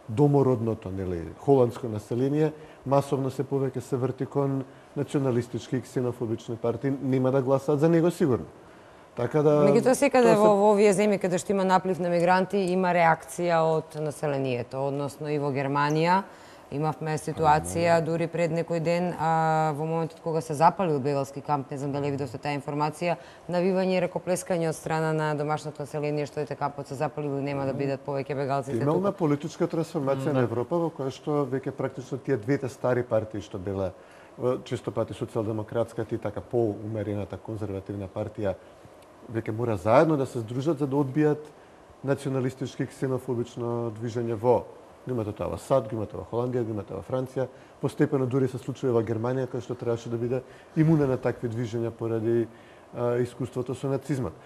домородното, нели, холандско население масовно се повеќе се врти кон националистички и ксенофобични партии, нема да гласаат за него сигурно. Така да Меѓутоа секаде во, во овие земји каде што има наплив на мигранти има реакција од населението, односно и во Германија имавме ситуација дури пред некој ден а, во моментот кога се запалил бегалски камп, не знам дали видовте таа информација, навивање и рекоплескање од страна на домашното население што ете кампот се запалил и нема да бидат повеќе бегалците тука. Имална политичка трансформација на Европа во која што веќе практично тие двете стари партии што била често пати социјалдемократската и така поумерената конзервативна партија веќе мора заедно да се здружат за да одбијат националистички ксенофобично движење во го имате тоа во САД, го имате во Холандија, го имате во Франција, постепено дури се случува во Германија кај што требаше да биде имуна на такви движења поради а, искуството со нацизмот.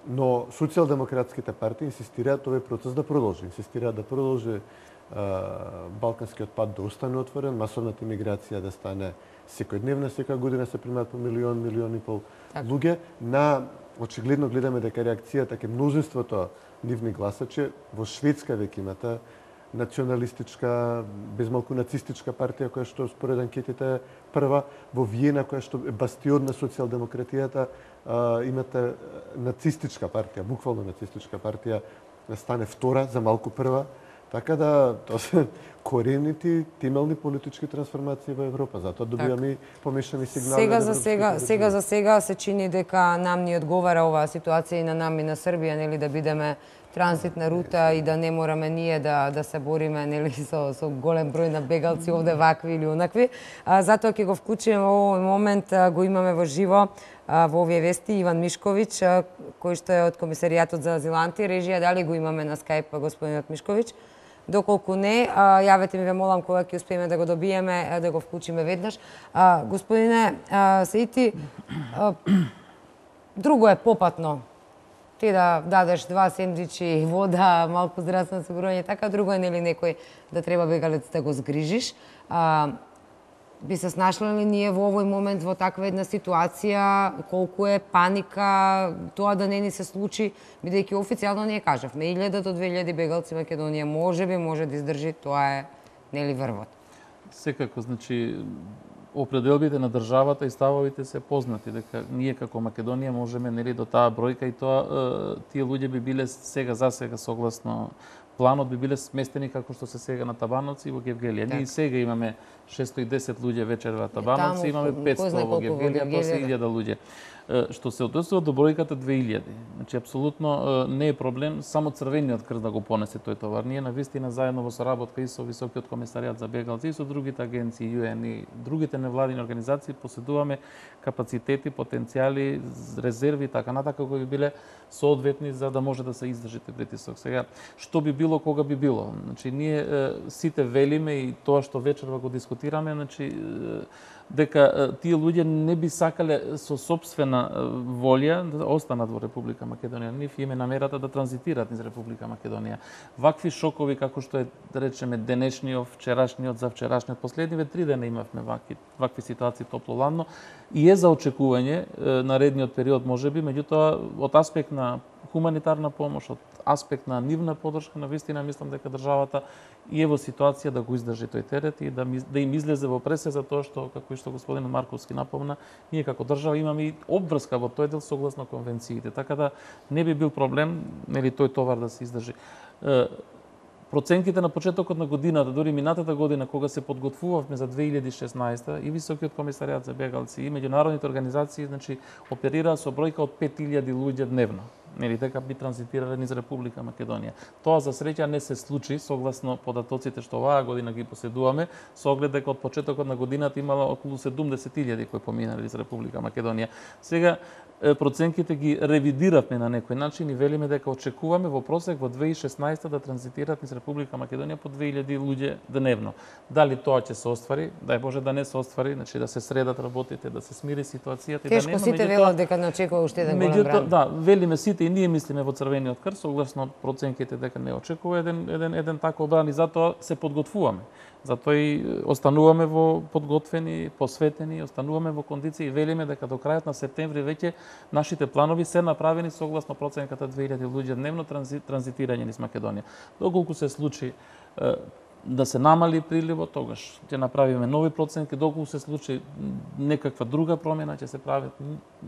Но социјалдемократските партии инсистираат овој процес да продолжи, инсистираат да продолжи а, балканскиот пат да остане отворен, масовната имиграција да стане секојдневна, секоја година се примаат по милион, милион и пол луѓе. На очигледно гледаме дека реакцијата ке мнозинството нивни гласачи во Шведска веќе имате националистичка, безмалку нацистичка партија која што според анкетите прва, во Виена која што е бастион на социјалдемократијата, имате нацистичка партија, буквално нацистичка партија стане втора, за малку прва. Така да тоа се корените, темелни политички трансформации во Европа, затоа добиваме и помешани сигнали. Сега за сега, сега за сега се чини дека нам ни одговара оваа ситуација и на нам и на Србија, нели, да бидеме транзитна рута и да не мораме ние да да се бориме, нели, со со голем број на бегалци овде вакви или онакви. А, затоа ќе го вклучиме во овој момент, а, го имаме во живо а, во овие вести Иван Мишковиќ, а, кој што е од Комисаријатот за азиланти. Режија, дали го имаме на скајп господинот Мишковиќ? Доколку не, а, јавете ми, ве молам, кога ќе успееме да го добиеме, да го вклучиме веднаш. А, господине а, Саити, а, друго е попатно. Ти да дадеш два сендвичи, вода, малку здравствено осигурување, така, друго е нели некој да треба бегалец да го згрижиш. А, би се снашле ли ние во овој момент во таква една ситуација, колку е паника, тоа да не ни се случи, бидејќи официјално ние кажавме, илјада до две илјади бегалци Македонија можеби може да издржи, тоа е нели врвот. Секако, значи, определбите на државата и ставовите се познати, дека ние како Македонија можеме нели до таа бројка и тоа тие луѓе би биле сега за сега согласно планот би биле сместени како што се сега на Табановци и во Гевгелија. Ние и сега имаме шестоста и десет луѓе вечер во Табановци, имаме петстотини во Гевгелија, тоа се илјада луѓе. Што се однесува до бројката две илјади. Значи апсолутно не е проблем само црвениот крст да го понесе тој товар. Ние навистина заедно во соработка и со Високиот комисаријат за бегалци и со другите агенции ЮЕН и другите невладини организации поседуваме капацитети, потенцијали, резерви така натака кои би биле соодветни за да може да се издржите притисок. Сега што би било кога би било? Значи ние сите велиме и тоа што вечерва го дискутираме, значи дека тие луѓе не би сакале со сопствена волја да останат во Република Македонија. Нив име намерата да транзитираат низ Република Македонија. Вакви шокови како што е, да речеме, денешниот, вчерашниот, за вчерашниот, последниве три дена имавме вакви, вакви ситуации топло-ладно и е за очекување наредниот период можеби, меѓутоа од аспект на хуманитарна помош, од аспект на нивна подршка, на вистина мислам дека државата и е во ситуација да го издржи тој терет и да, да им излезе во пресе за тоа што, како и што господин Марковски напомна, ние како држава имаме и обврска во тој дел согласно конвенциите, така да не би бил проблем нели тој товар да се издржи. Проценките на почетокот на годината, дури минатата година, кога се подготвувавме за две илјади и шеснаесета, и Високиот комисаријат за бегалци, и меѓународните организации, значи, оперираа со бројка од пет илјади луѓе дневно. Нели дека би транзитирале низ Република Македонија. Тоа за среќа не се случи согласно податоците што оваа година ги поседуваме, со оглед дека од почетокот на годината имало околу седумдесет илјади кои поминале низ Република Македонија. Сега проценките ги ревидиравме на некој начин и велиме дека очекуваме во просек во две илјади и шеснаесета да транзитираат низ Република Македонија по две илјади луѓе дневно. Дали тоа ќе се оствари? Дај Боже да не се оствари, значи да се средат работите, да се смири ситуацијата и да нема. Тешко сите велат дека не очекува уште еден голем бран. Да, велиме сите и ние мислиме во Црвениот крст, согласно проценките дека не очекува еден еден еден таков бран и затоа се подготвуваме. Затоа и остануваме во подготвени, посветени, остануваме во кондиции и велиме дека до крајот на септември веќе нашите планови се направени согласно проценката две илјади луѓе дневно транзитирање низ Македонија. Доколку се случи да се намали приливот, тогаш ќе направиме нови проценки, доколку се случи некаква друга промена, ќе се прават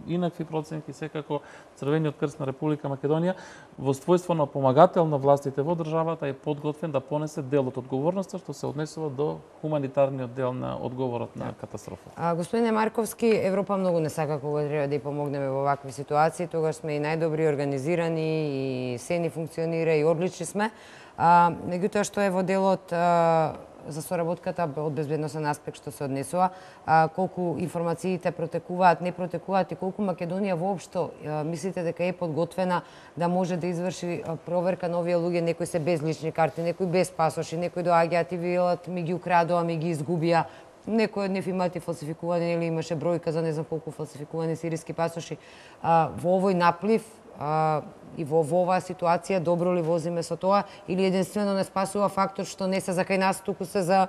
инакви проценки. Секако Црвениот крст на Република Македонија во својство на помагател на властите во државата е подготвен да понесе дел од одговорноста што се однесува до хуманитарниот дел на одговорот на катастрофата. А, господине Марковски, Европа многу не сака кога треба да ја помогнеме во вакви ситуации, тогаш сме и најдобри организирани и се ни функционира и одлични сме. А, меѓутоа што е во делот а, за соработката од безбедносен аспект што се однесува, а, колку информациите протекуваат, не протекуваат и колку Македонија воопшто а, мислите дека е подготвена да може да изврши а, проверка на овие луѓе, некои се без лични карти, некои без пасоши, некои доаѓаат и велат ми ги украдоа, ми ги изгубија, некои од нив имаат и фалсификувани или имаше бројка за не знам колку фалсификувани сириски пасоши. А, во овој наплив а, и во, во оваа ситуација добро ли возиме со тоа или единствено не спасува фактор што не се за кај нас, туку се за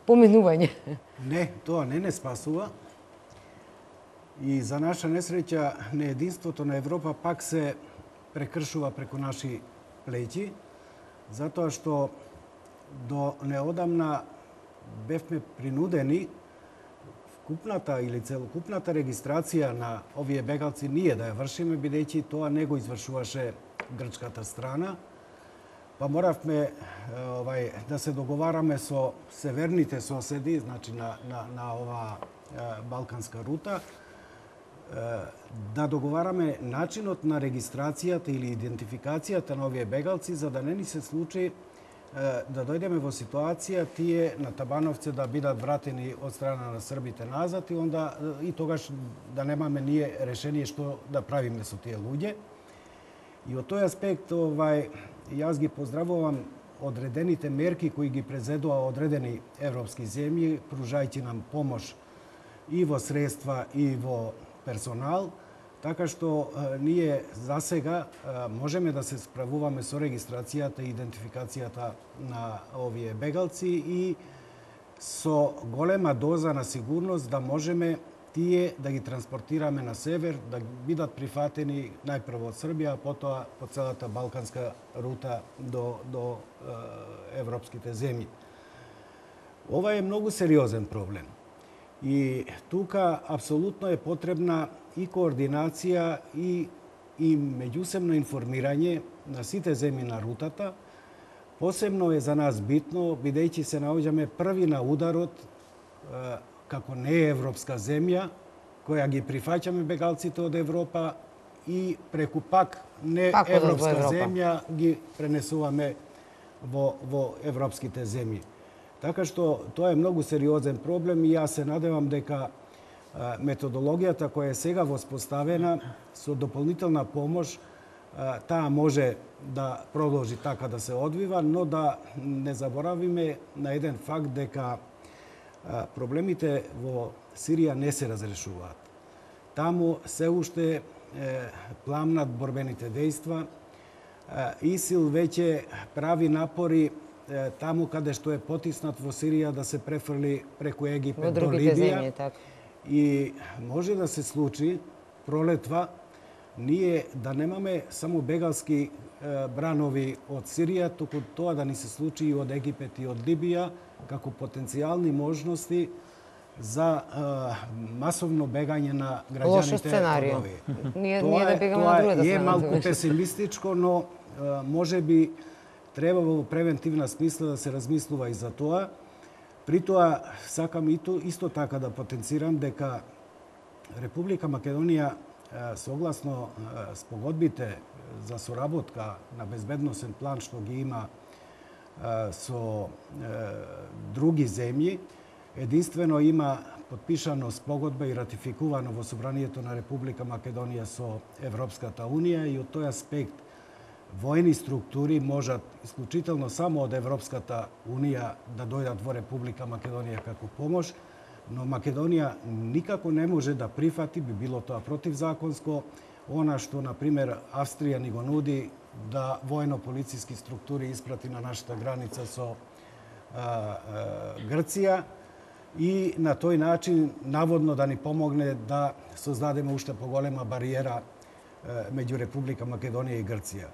поминување? Не, тоа не не спасува. И за наша несреќа неединството на Европа пак се прекршува преку наши плеќи, затоа што до неодамна бевме принудени вкупната или целокупната регистрација на овие бегалци ние да ја вршиме, бидејќи тоа не го извршуваше грчката страна, па моравме овај да се договараме со северните соседи, значи на на на оваа балканска рута, да договараме начинот на регистрацијата или идентификацијата на овие бегалци за да не ни се случи да дојдеме во ситуација тие на Табановце да бидат вратени од страна на србите назад и онда и тогаш да немаме ние решение што да правиме со тие луѓе. И од тој аспект овај јас ги поздравувам одредените мерки кои ги презедува одредени европски земји, пружајќи нам помош и во средства и во персонал, така што е, ние за сега е, можеме да се справуваме со регистрацијата и идентификацијата на овие бегалци и со голема доза на сигурност да можеме тие да ги транспортираме на север, да бидат прифатени најпрво од Србија, а потоа по целата балканска рута до, до е, европските земји. Ова е многу сериозен проблем. И тука апсолутно е потребна и координација и, и меѓусебно информирање на сите земји на рутата. Посебно е за нас битно, бидејќи се наоѓаме први на ударот е, како не европска земја, која ги прифаќаме бегалците од Европа и преку пак не пак европска земја ги пренесуваме во, во европските земји. Така што тоа е многу сериозен проблем и јас се надевам дека методологијата која е сега воспоставена со дополнителна помош таа може да продолжи така да се одвива, но да не заборавиме на еден факт дека проблемите во Сирија не се разрешуваат. Таму се уште пламнат борбените дејства. ИСИЛ веќе прави напори таму каде што е потиснат во Сирија да се префрли преку Египет до Либија. Земји, така. И може да се случи пролетва ние да немаме само бегалски е, бранови од Сирија, туку тоа да ни се случи и од Египет и од Либија како потенцијални можности за е, масовно бегање на граѓаните. Лошо сценарио. Ние, тоа ние да бегаме на другата страна. Тоа е малку песимистичко, но е, може би треба во превентивна смисла да се размислува и за тоа. При тоа, сакам и то, исто така да потенцирам дека Република Македонија, согласно спогодбите за соработка на безбедносен план што ги има со други земји, единствено има подпишано спогодба и ратификувано во Собранието на Република Македонија со Европската Унија и од тој аспект воени структури можат исклучително само од Европската Унија да дојдат во Република Македонија како помош, но Македонија никако не може да прифати, би било тоа противзаконско, она што, на пример, Австрија ни го нуди да воено-полициски структури испрати на нашата граница со а, а, Грција и на тој начин наводно да ни помогне да создадеме уште поголема бариера а, меѓу Република Македонија и Грција.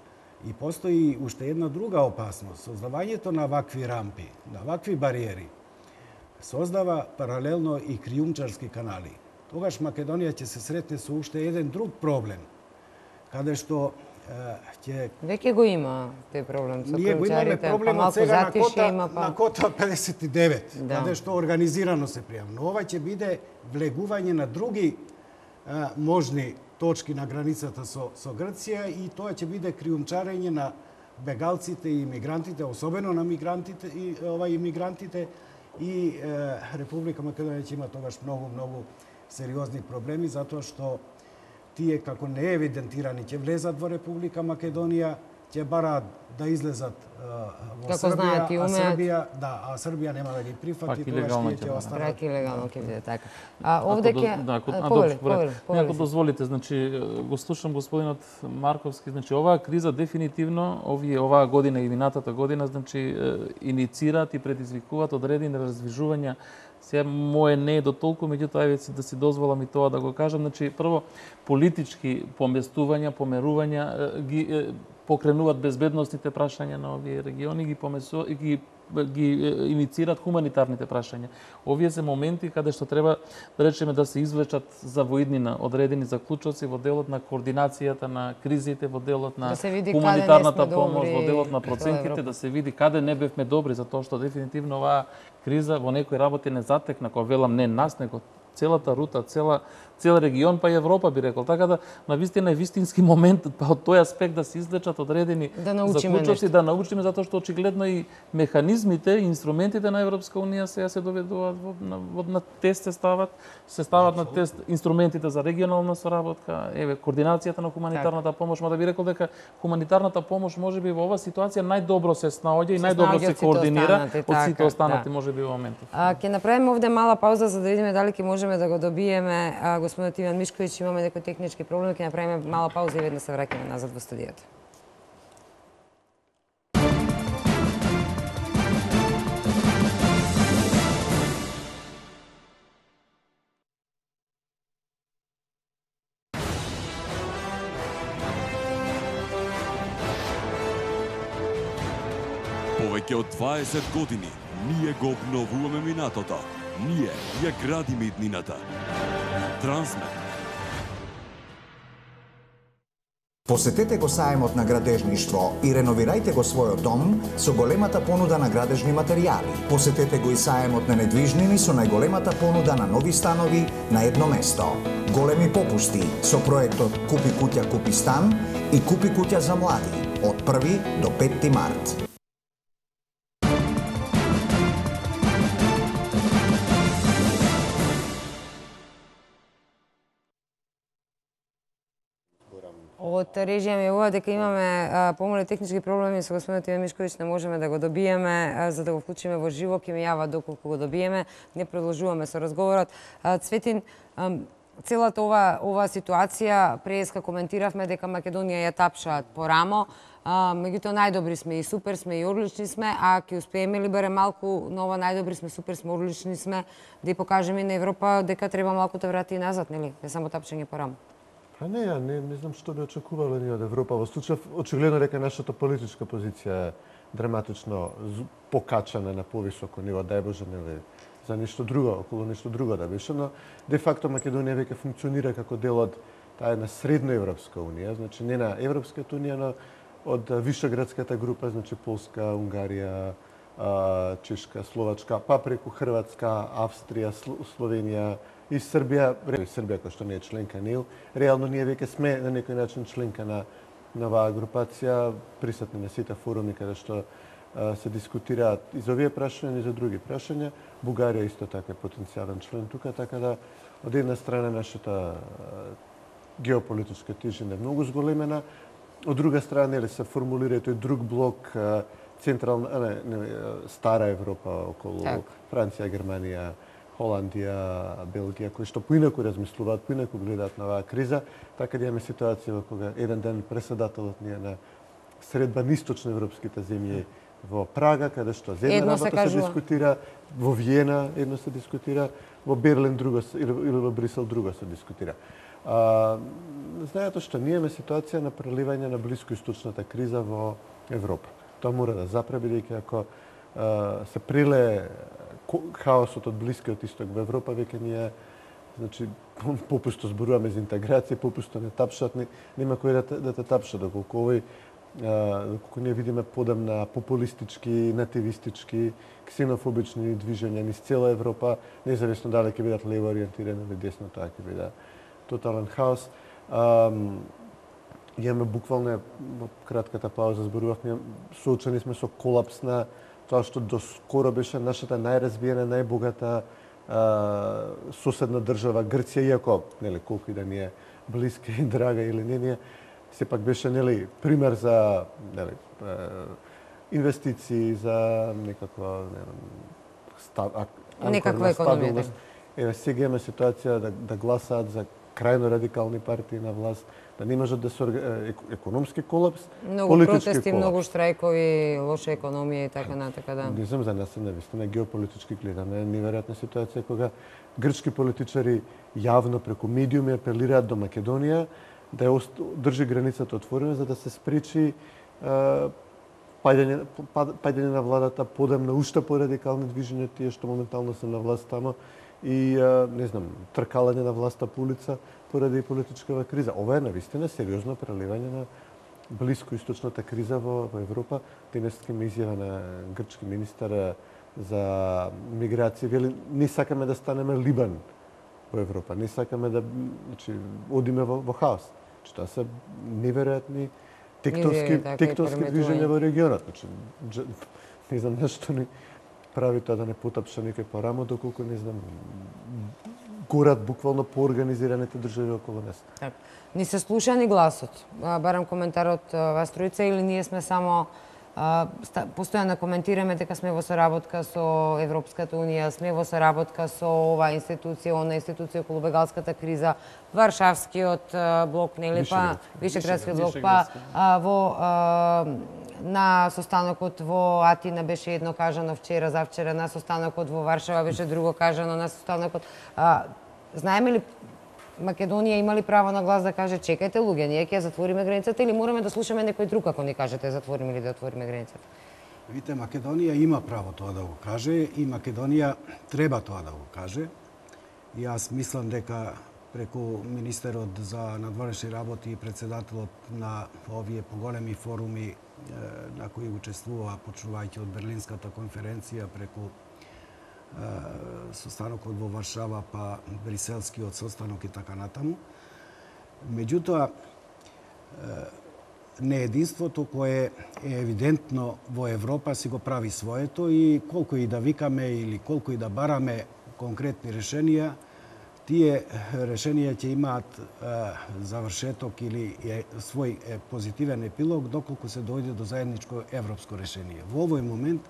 И постои уште една друга опасност. Создавањето на вакви рампи, на вакви бариери, создава паралелно и криумчарски канали. Тогаш Македонија ќе се сретне со уште еден друг проблем, каде што ќе... Веќе го има тој проблем со Ние го имаме проблем од сега на кота, има, па... на кота педесет и девет, да. Каде што организирано се пријава. Но ова ќе биде влегување на други а, можни точки на границата со, со Грција и тоа ќе биде криумчарење на бегалците и имигрантите, особено на мигрантите и ова имигрантите и е, Република Македонија ќе има тогаш многу многу сериозни проблеми затоа што тие како не евидентирани ќе влезат во Република Македонија, ќе бараат да излезат во како Србија, знаат и а умеат. Србија, да, а Србија нема да ги прифати, тогаш тие ќе останат. Пак илегално ќе биде така. А овде ќе да, ако, а, повели, добро, повели, повели. Ако дозволите, значи го слушам господинот Марковски, значи оваа криза дефинитивно овие оваа година и минатата година значи иницираат и предизвикуваат одредени раздвижувања. Сега моje не е до толку, меѓутоа еве да си дозволам и тоа да го кажам, значи прво политички поместувања, померувања ги покренуваат безбедносните прашања на овие региони, ги помесу, ги ги иницираат хуманитарните прашања. Овие се моменти каде што треба да речеме да се извлечат за воиднина одредени заклучоци во делот на координацијата на кризите, во делот на да хуманитарната помош, во делот на проценките, да се види каде не бевме добри, затоа што дефинитивно оваа криза во некои работи не затекна, кога велам не нас, него целата рута, цела цел регион, па и Европа би рекол. Така да на вистина е вистински момент па од тој аспект да се излечат одредени да заклучоци, да научиме, затоа што очигледно и механизмите, инструментите на Европска унија сега се доведуваат во, на, во, на тест се стават, се стават на тест инструментите за регионална соработка, еве координацијата на хуманитарната помош, ма да би рекол дека хуманитарната помош можеби во оваа ситуација најдобро се снаоѓа и најдобро се координира од сите останати можеби во моментот. А ќе направиме овде мала пауза за да видиме дали ќе можеме да го добиеме а, господинот Иван Мишковиќ, имаме некои технички проблеми, ќе направиме мала пауза и веднаш се враќаме назад во студиото. Повеќе од дваесет години ние го обновуваме минатото. Ние ја градиме иднината. Трансмет. Посетете го саемот на градежништво и реновирајте го својот дом со големата понуда на градежни материјали. Посетете го и саемот на недвижнини со најголемата понуда на нови станови на едно место. Големи попусти со проектот Купи куќа, купи стан и Купи куќа за млади од први до петти март. Од режија ми јавува дека имаме помале технички проблеми со господинот Иван Мишковиќ, не можеме да го добиеме, а, за да го вклучиме во живо, ќе ми јава доколку го добиеме, не продолжуваме со разговорот. А, Цветин, а, целата ова ова ситуација преска коментиравме дека Македонија ја тапшаат по рамо, а, меѓутоа најдобри сме и супер сме и одлични сме, а ќе успееме ли барем малку на ова најдобри сме, супер сме, одлични сме, да ја покажеме на Европа дека треба малку да врати и назад, нели? Не само тапчење по рамо. Па не, ја не, не знам што би очекувале ние од Европа. Во случај, очигледно дека нашата политичка позиција е драматично покачана на повисоко ниво, дај Боже, нели, за нешто друго, околу нешто друго да беше, но де факто Македонија веќе функционира како дел од таа една средноевропска унија, значи не на Европската унија, но од Вишеградската група, значи Полска, Унгарија, Чешка, Словачка, па преку Хрватска, Австрија, Словенија и Србија, Србија која што не е членка Н И Л, реално ние веќе сме на некој начин членка на на оваа групација, присутни на сите форуми каде што а, се дискутираат и за овие прашања и за други прашања. Бугарија исто така е потенцијален член тука, така да од една страна нашата а, геополитичка тежина е многу зголемена, од друга страна нели се формулира тој друг блок централна, не, не, стара Европа околу так. Франција, Германија, Холандија, Белгија, кои што поинаку размислуваат, поинаку гледаат на оваа криза, така да имаме ситуација во кога еден ден председателот ни е на средба на источноевропските земји во Прага, каде што за една работа се, се дискутира, во Виена едно се дискутира, во Берлин друго се, или, или во Брисел друго се дискутира. А, знаете што ние имаме ситуација на преливање на блискоисточната криза во Европа. Тоа мора да запре, бидејќи ако а, се приле хаосот од Блискиот исток во Европа, веќе ние, значи, попусто зборуваме за интеграција, попусто не тапшат, не, нема кој да те, да те тапша, доколку овој доколку ние видиме подем на популистички, нативистички, ксенофобични движења низ цела Европа, независно дали ќе бидат лево ориентирани или десно, тоа ќе биде тотален хаос. Имаме буквално во кратката пауза зборувавме, соочени сме со колапс на тоа што до скоро беше нашата најразвиена, најбогата а, соседна држава Грција, иако нели колку и да ни е блиска и драга или не, ние сепак беше нели пример за нели инвестиции, за некаква нели некаква економија. Еве сега имаме ситуација да да гласаат за крајно радикални партии на власт, да не можат да се економски колапс, многу протести, колапс. Многу штрајкови, лоша економија и така натака, да. Не знам, за нас е навистина геополитички гледаме неверојатна ситуација кога грчки политичари јавно преку медиуми апелираат до Македонија да ја држи границата отворена за да се спречи паѓање паѓање на владата подем на уште порадикални движења тие што моментално се на власт тамо и не знам тркалање на власта по улица поради политичкава криза. Ова е навистина сериозно преливање на блискоисточната криза во, во Европа. Денеска ме изјава на грчки министар за миграција, вели не сакаме да станеме Либан во Европа, не сакаме да значи одиме во, во хаос. Значи тоа се неверојатни тектонски тектонски движења во регионот. Значи не знам нешто ни прави тоа да не потапша никој по рамо, доколку не знам горат буквално по организираните држави околу нас. Так. Ни се слуша ни гласот. Барам коментарот вас тројца или ние сме само постојано коментираме дека сме во соработка со Европската унија, сме во соработка со оваа институција, она институција околу бегалската криза, Варшавскиот блок, нели па Вишеградскиот блок, па во на состанокот во Атина беше едно кажано вчера, завчера на состанокот во Варшава беше друго кажано на состанокот. Знаеме ли Македонија има ли право на глас да каже чекајте луѓе, ние ќе затвориме границата или мораме да слушаме некој друг ако ни кажете затвориме или да отвориме границата? Видите, Македонија има право тоа да го каже и Македонија треба тоа да го каже. И јас мислам дека преку министерот за надворешни работи и председателот на овие поголеми форуми на кои учествува, почнувајќи од Берлинската конференција преку состанокот во Варшава, па Бриселскиот состанок и така натаму. Меѓутоа, неединството кое е евидентно во Европа си го прави своето и колку и да викаме или колку и да бараме конкретни решенија, тие решенија ќе имаат завршеток или свој позитивен епилог доколку се дојде до заедничко европско решение. Во овој момент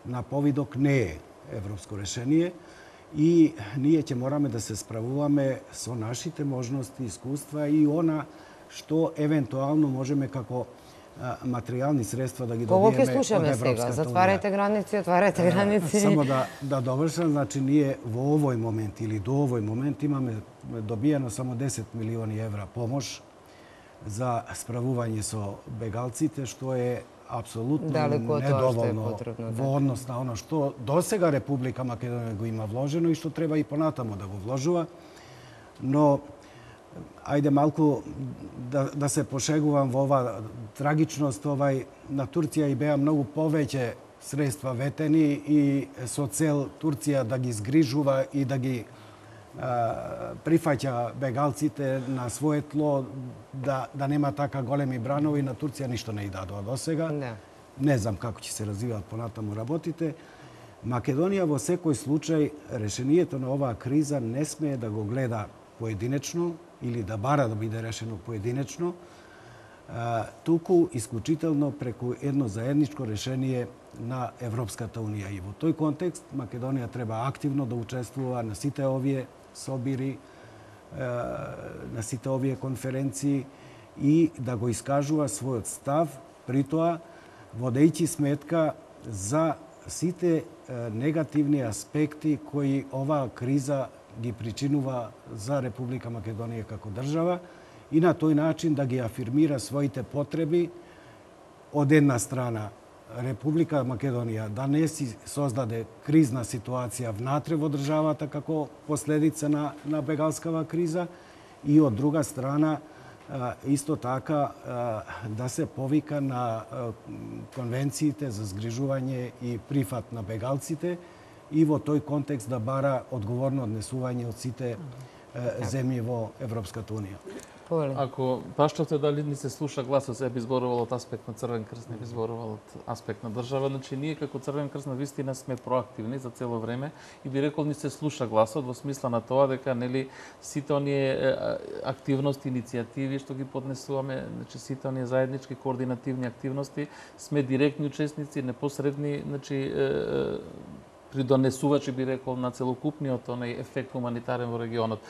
на повидок не е европско решение и ние ќе мораме да се справуваме со нашите можности, искуства и она што евентуално можеме како материјални средства да ги добиеме од Европската унија. Сега, затварајте граници, отварајте граници. Само да да довршам, значи ние во овој момент или до овој момент имаме добиено само десет милиони евра помош за справување со бегалците, што е апсолутно недоволно во однос на оно што досега Република Македонија го има вложено и што треба и понатамо да го вложува. Но ајде малку да, да се пошегувам во ова трагичност, овај на Турција и беа многу повеќе средства ветени и со цел Турција да ги згрижува и да ги а, прифаќа бегалците на свое тло, да, да нема така големи бранови, на Турција ништо не и дадоа досега. Не. Не знам како ќе се развиваат понатаму работите. Македонија во секој случај решението на оваа криза не смее да го гледа поединечно или да бара да биде решено поединечно, туку исклучително преку едно заедничко решение на Европската унија. И во тој контекст Македонија треба активно да учествува на сите овие собири, на сите овие конференции и да го искажува својот став, при тоа водејќи сметка за сите негативни аспекти кои оваа криза ги причинува за Република Македонија како држава и на тој начин да ги афирмира своите потреби од една страна Република Македонија да не си создаде кризна ситуација внатре во државата како последица на, на бегалскава криза и од друга страна исто така да се повика на конвенциите за згрижување и прифат на бегалците и во тој контекст да бара одговорно однесување од сите земји во Европската унија. Ако прашувате дали ни се слуша гласот, се би зборувал од аспект на Црвен крст, не би зборувал од аспект на држава, значи ние како Црвен крст на вистина сме проактивни за цело време и би рекол ни се слуша гласот во смисла на тоа дека нели сите оние активности, иницијативи што ги поднесуваме, значи сите оние заеднички координативни активности, сме директни учесници, непосредни, значи придонесувачи би рекол на целокупниот онај ефект хуманитарен во регионот.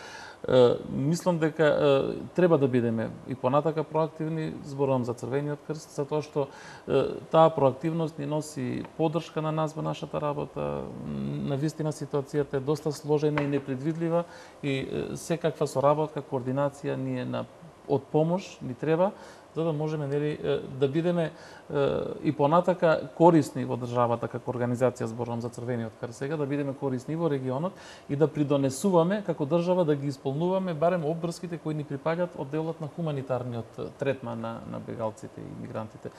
Мислам дека треба да бидеме и понатака проактивни, зборувам за Црвениот крст, затоа што таа проактивност ни носи поддршка на нас во нашата работа. Навистина ситуацијата е доста сложена и непредвидлива и секаква соработка, координација ни е на од помош ни треба за да можеме нели да бидеме и понатака корисни во државата како организација, зборувам за Црвениот крст сега, да бидеме корисни во регионот и да придонесуваме како држава да ги исполнуваме барем обврските кои ни припаѓаат од делот на хуманитарниот третман на, на бегалците и мигрантите.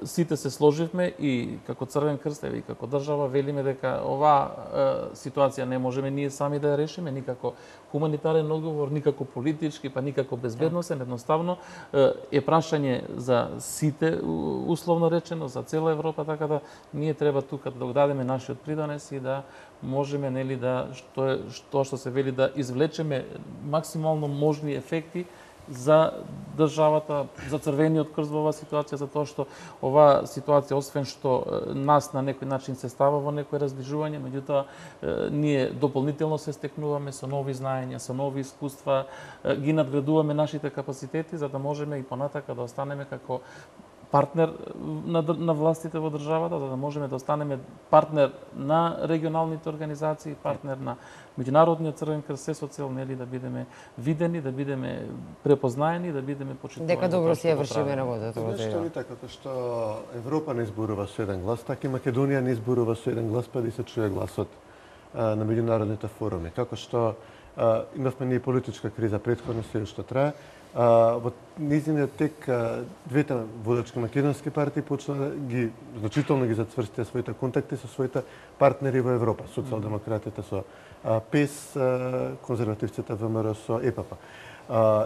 Сите се сложивме и како Црвен крст и како држава велиме дека оваа ситуација не можеме ние сами да ја решиме, никако хуманитарен одговор, никако политички, па никако безбедносен, едноставно е прашање за сите условно речено, за цела Европа, така да ние треба тука да дадеме нашиот придонес и да можеме нели да што е што што се вели да извлечеме максимално можни ефекти за државата, за Црвениот крст во оваа ситуација, затоа што оваа ситуација, освен што нас на некој начин се става во некој раздвижување, меѓутоа ние дополнително се стекнуваме со нови знаења, со нови искуства, ги надградуваме нашите капацитети за да можеме и понатака да останеме како партнер на, на властите во државата, за да можеме да останеме партнер на регионалните организации, партнер на Меѓународниот Црвен крст, се со цел нели да бидеме видени, да бидеме препознаени, да бидеме почитувани. Дека добро си ја вршиме работата во Зашто ни така, како што Европа не зборува со еден глас, така и Македонија не зборува со еден глас, па да се чуе гласот а, на меѓународните форуми. Како што а, имавме ние политичка криза претходно, се што трае, а, во низиниот тек а, двете водачки македонски партии почна да ги значително ги зацврстија своите контакти со своите партнери во Европа, социјалдемократите со ПЕС, конзервативците ВМРО со ЕПП.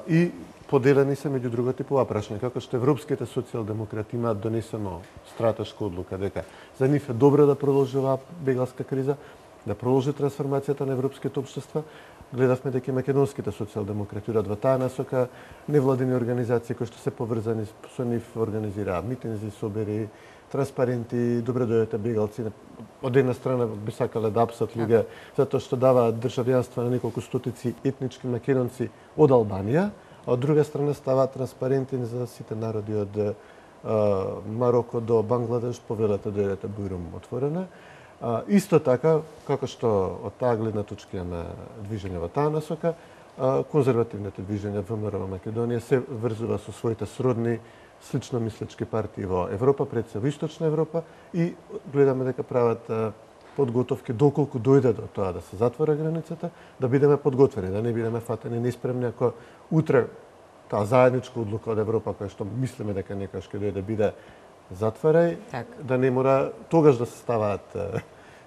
И поделени се меѓу другото по прашање, како што европските социјалдемократи имаат донесено стратешка одлука дека за нив е добро да продолжи оваа бегалска криза, да продолжи трансформацијата на европските општества. Гледавме дека македонските социјалдемократи во таа насока, невладени организации кои што се поврзани со нив организираат митинзи, собери, транспаренти, добре дојдете бегалци. Од една страна би сакале да апсат луѓе затоа што даваат државјанство на неколку стотици етнички македонци од Албанија, а од друга страна ставаат транспаренти за сите народи од а, Мароко до Бангладеш, повелете дојдете Бујрум отворена. А, исто така, како што од таа гледна точка имаме движење во таа насока, а, конзервативните движења ВМРО во Македонија се врзува со своите сродни слично мислечки партии во Европа, пред се во Источна Европа и гледаме дека прават подготовки доколку дојде до тоа да се затвора границата, да бидеме подготвени, да не бидеме фатени неспремни ако утре таа заедничка одлука од Европа која што мислиме дека некогаш ќе дојде биде затворај, так. Да не мора тогаш да се ставаат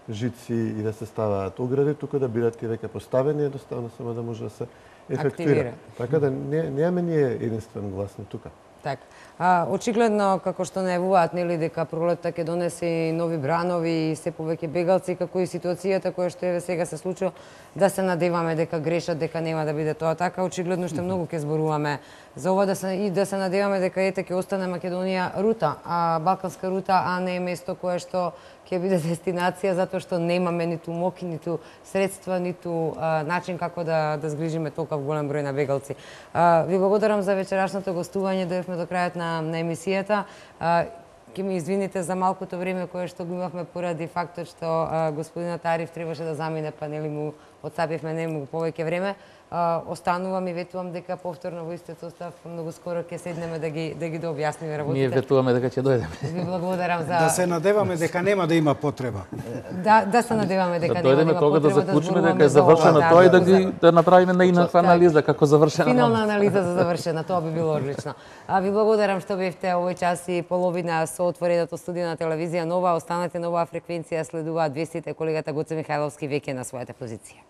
жици и да се ставаат огради, туку да бидат и веќе поставени, едноставно само да може да се ефектуира. Така да не немаме ние единствен глас на тука. Така. А, очигледно, како што најавуваат, нели, дека пролетта ќе донесе и нови бранови и се повеќе бегалци, како и ситуацијата која што еве сега се случува, да се надеваме дека грешат, дека нема да биде тоа така. Очигледно што многу ќе зборуваме за ова, да се и да се надеваме дека ете ќе остане Македонија рута, а балканска рута, а не место кое што ќе биде дестинација, затоа што немаме ниту моки, ниту средства, ниту а, начин како да да згрижиме толков голем број на бегалци. А, ви благодарам за вечерашното гостување, дојдовме до крајот на, на емисијата. А, ќе ми извините за малкото време кое што го имавме поради фактот што а, господинот Ариф требаше да замине, па нели му отцапивме нему повеќе време. Uh, останувам и ветувам дека повторно во истиот состав многу скоро ќе седнеме да ги да ги дообјасниме работите. Ние ветуваме дека ќе дојдеме. Ви благодарам за Да се надеваме дека нема да има потреба. Да, да се надеваме дека да нема да има тога потреба да заклучиме да дека е завршено да, тоа и да, да ги да направиме наинаква анализа како завршена. Финална анализа за завршена, тоа би било одлично. А ви благодарам што бевте овој час и половина со отвореното студио на телевизија Нова. Останете на оваа фреквенција, следуваат вестите, колегата Гоце Михајловски веќе на својата позиција.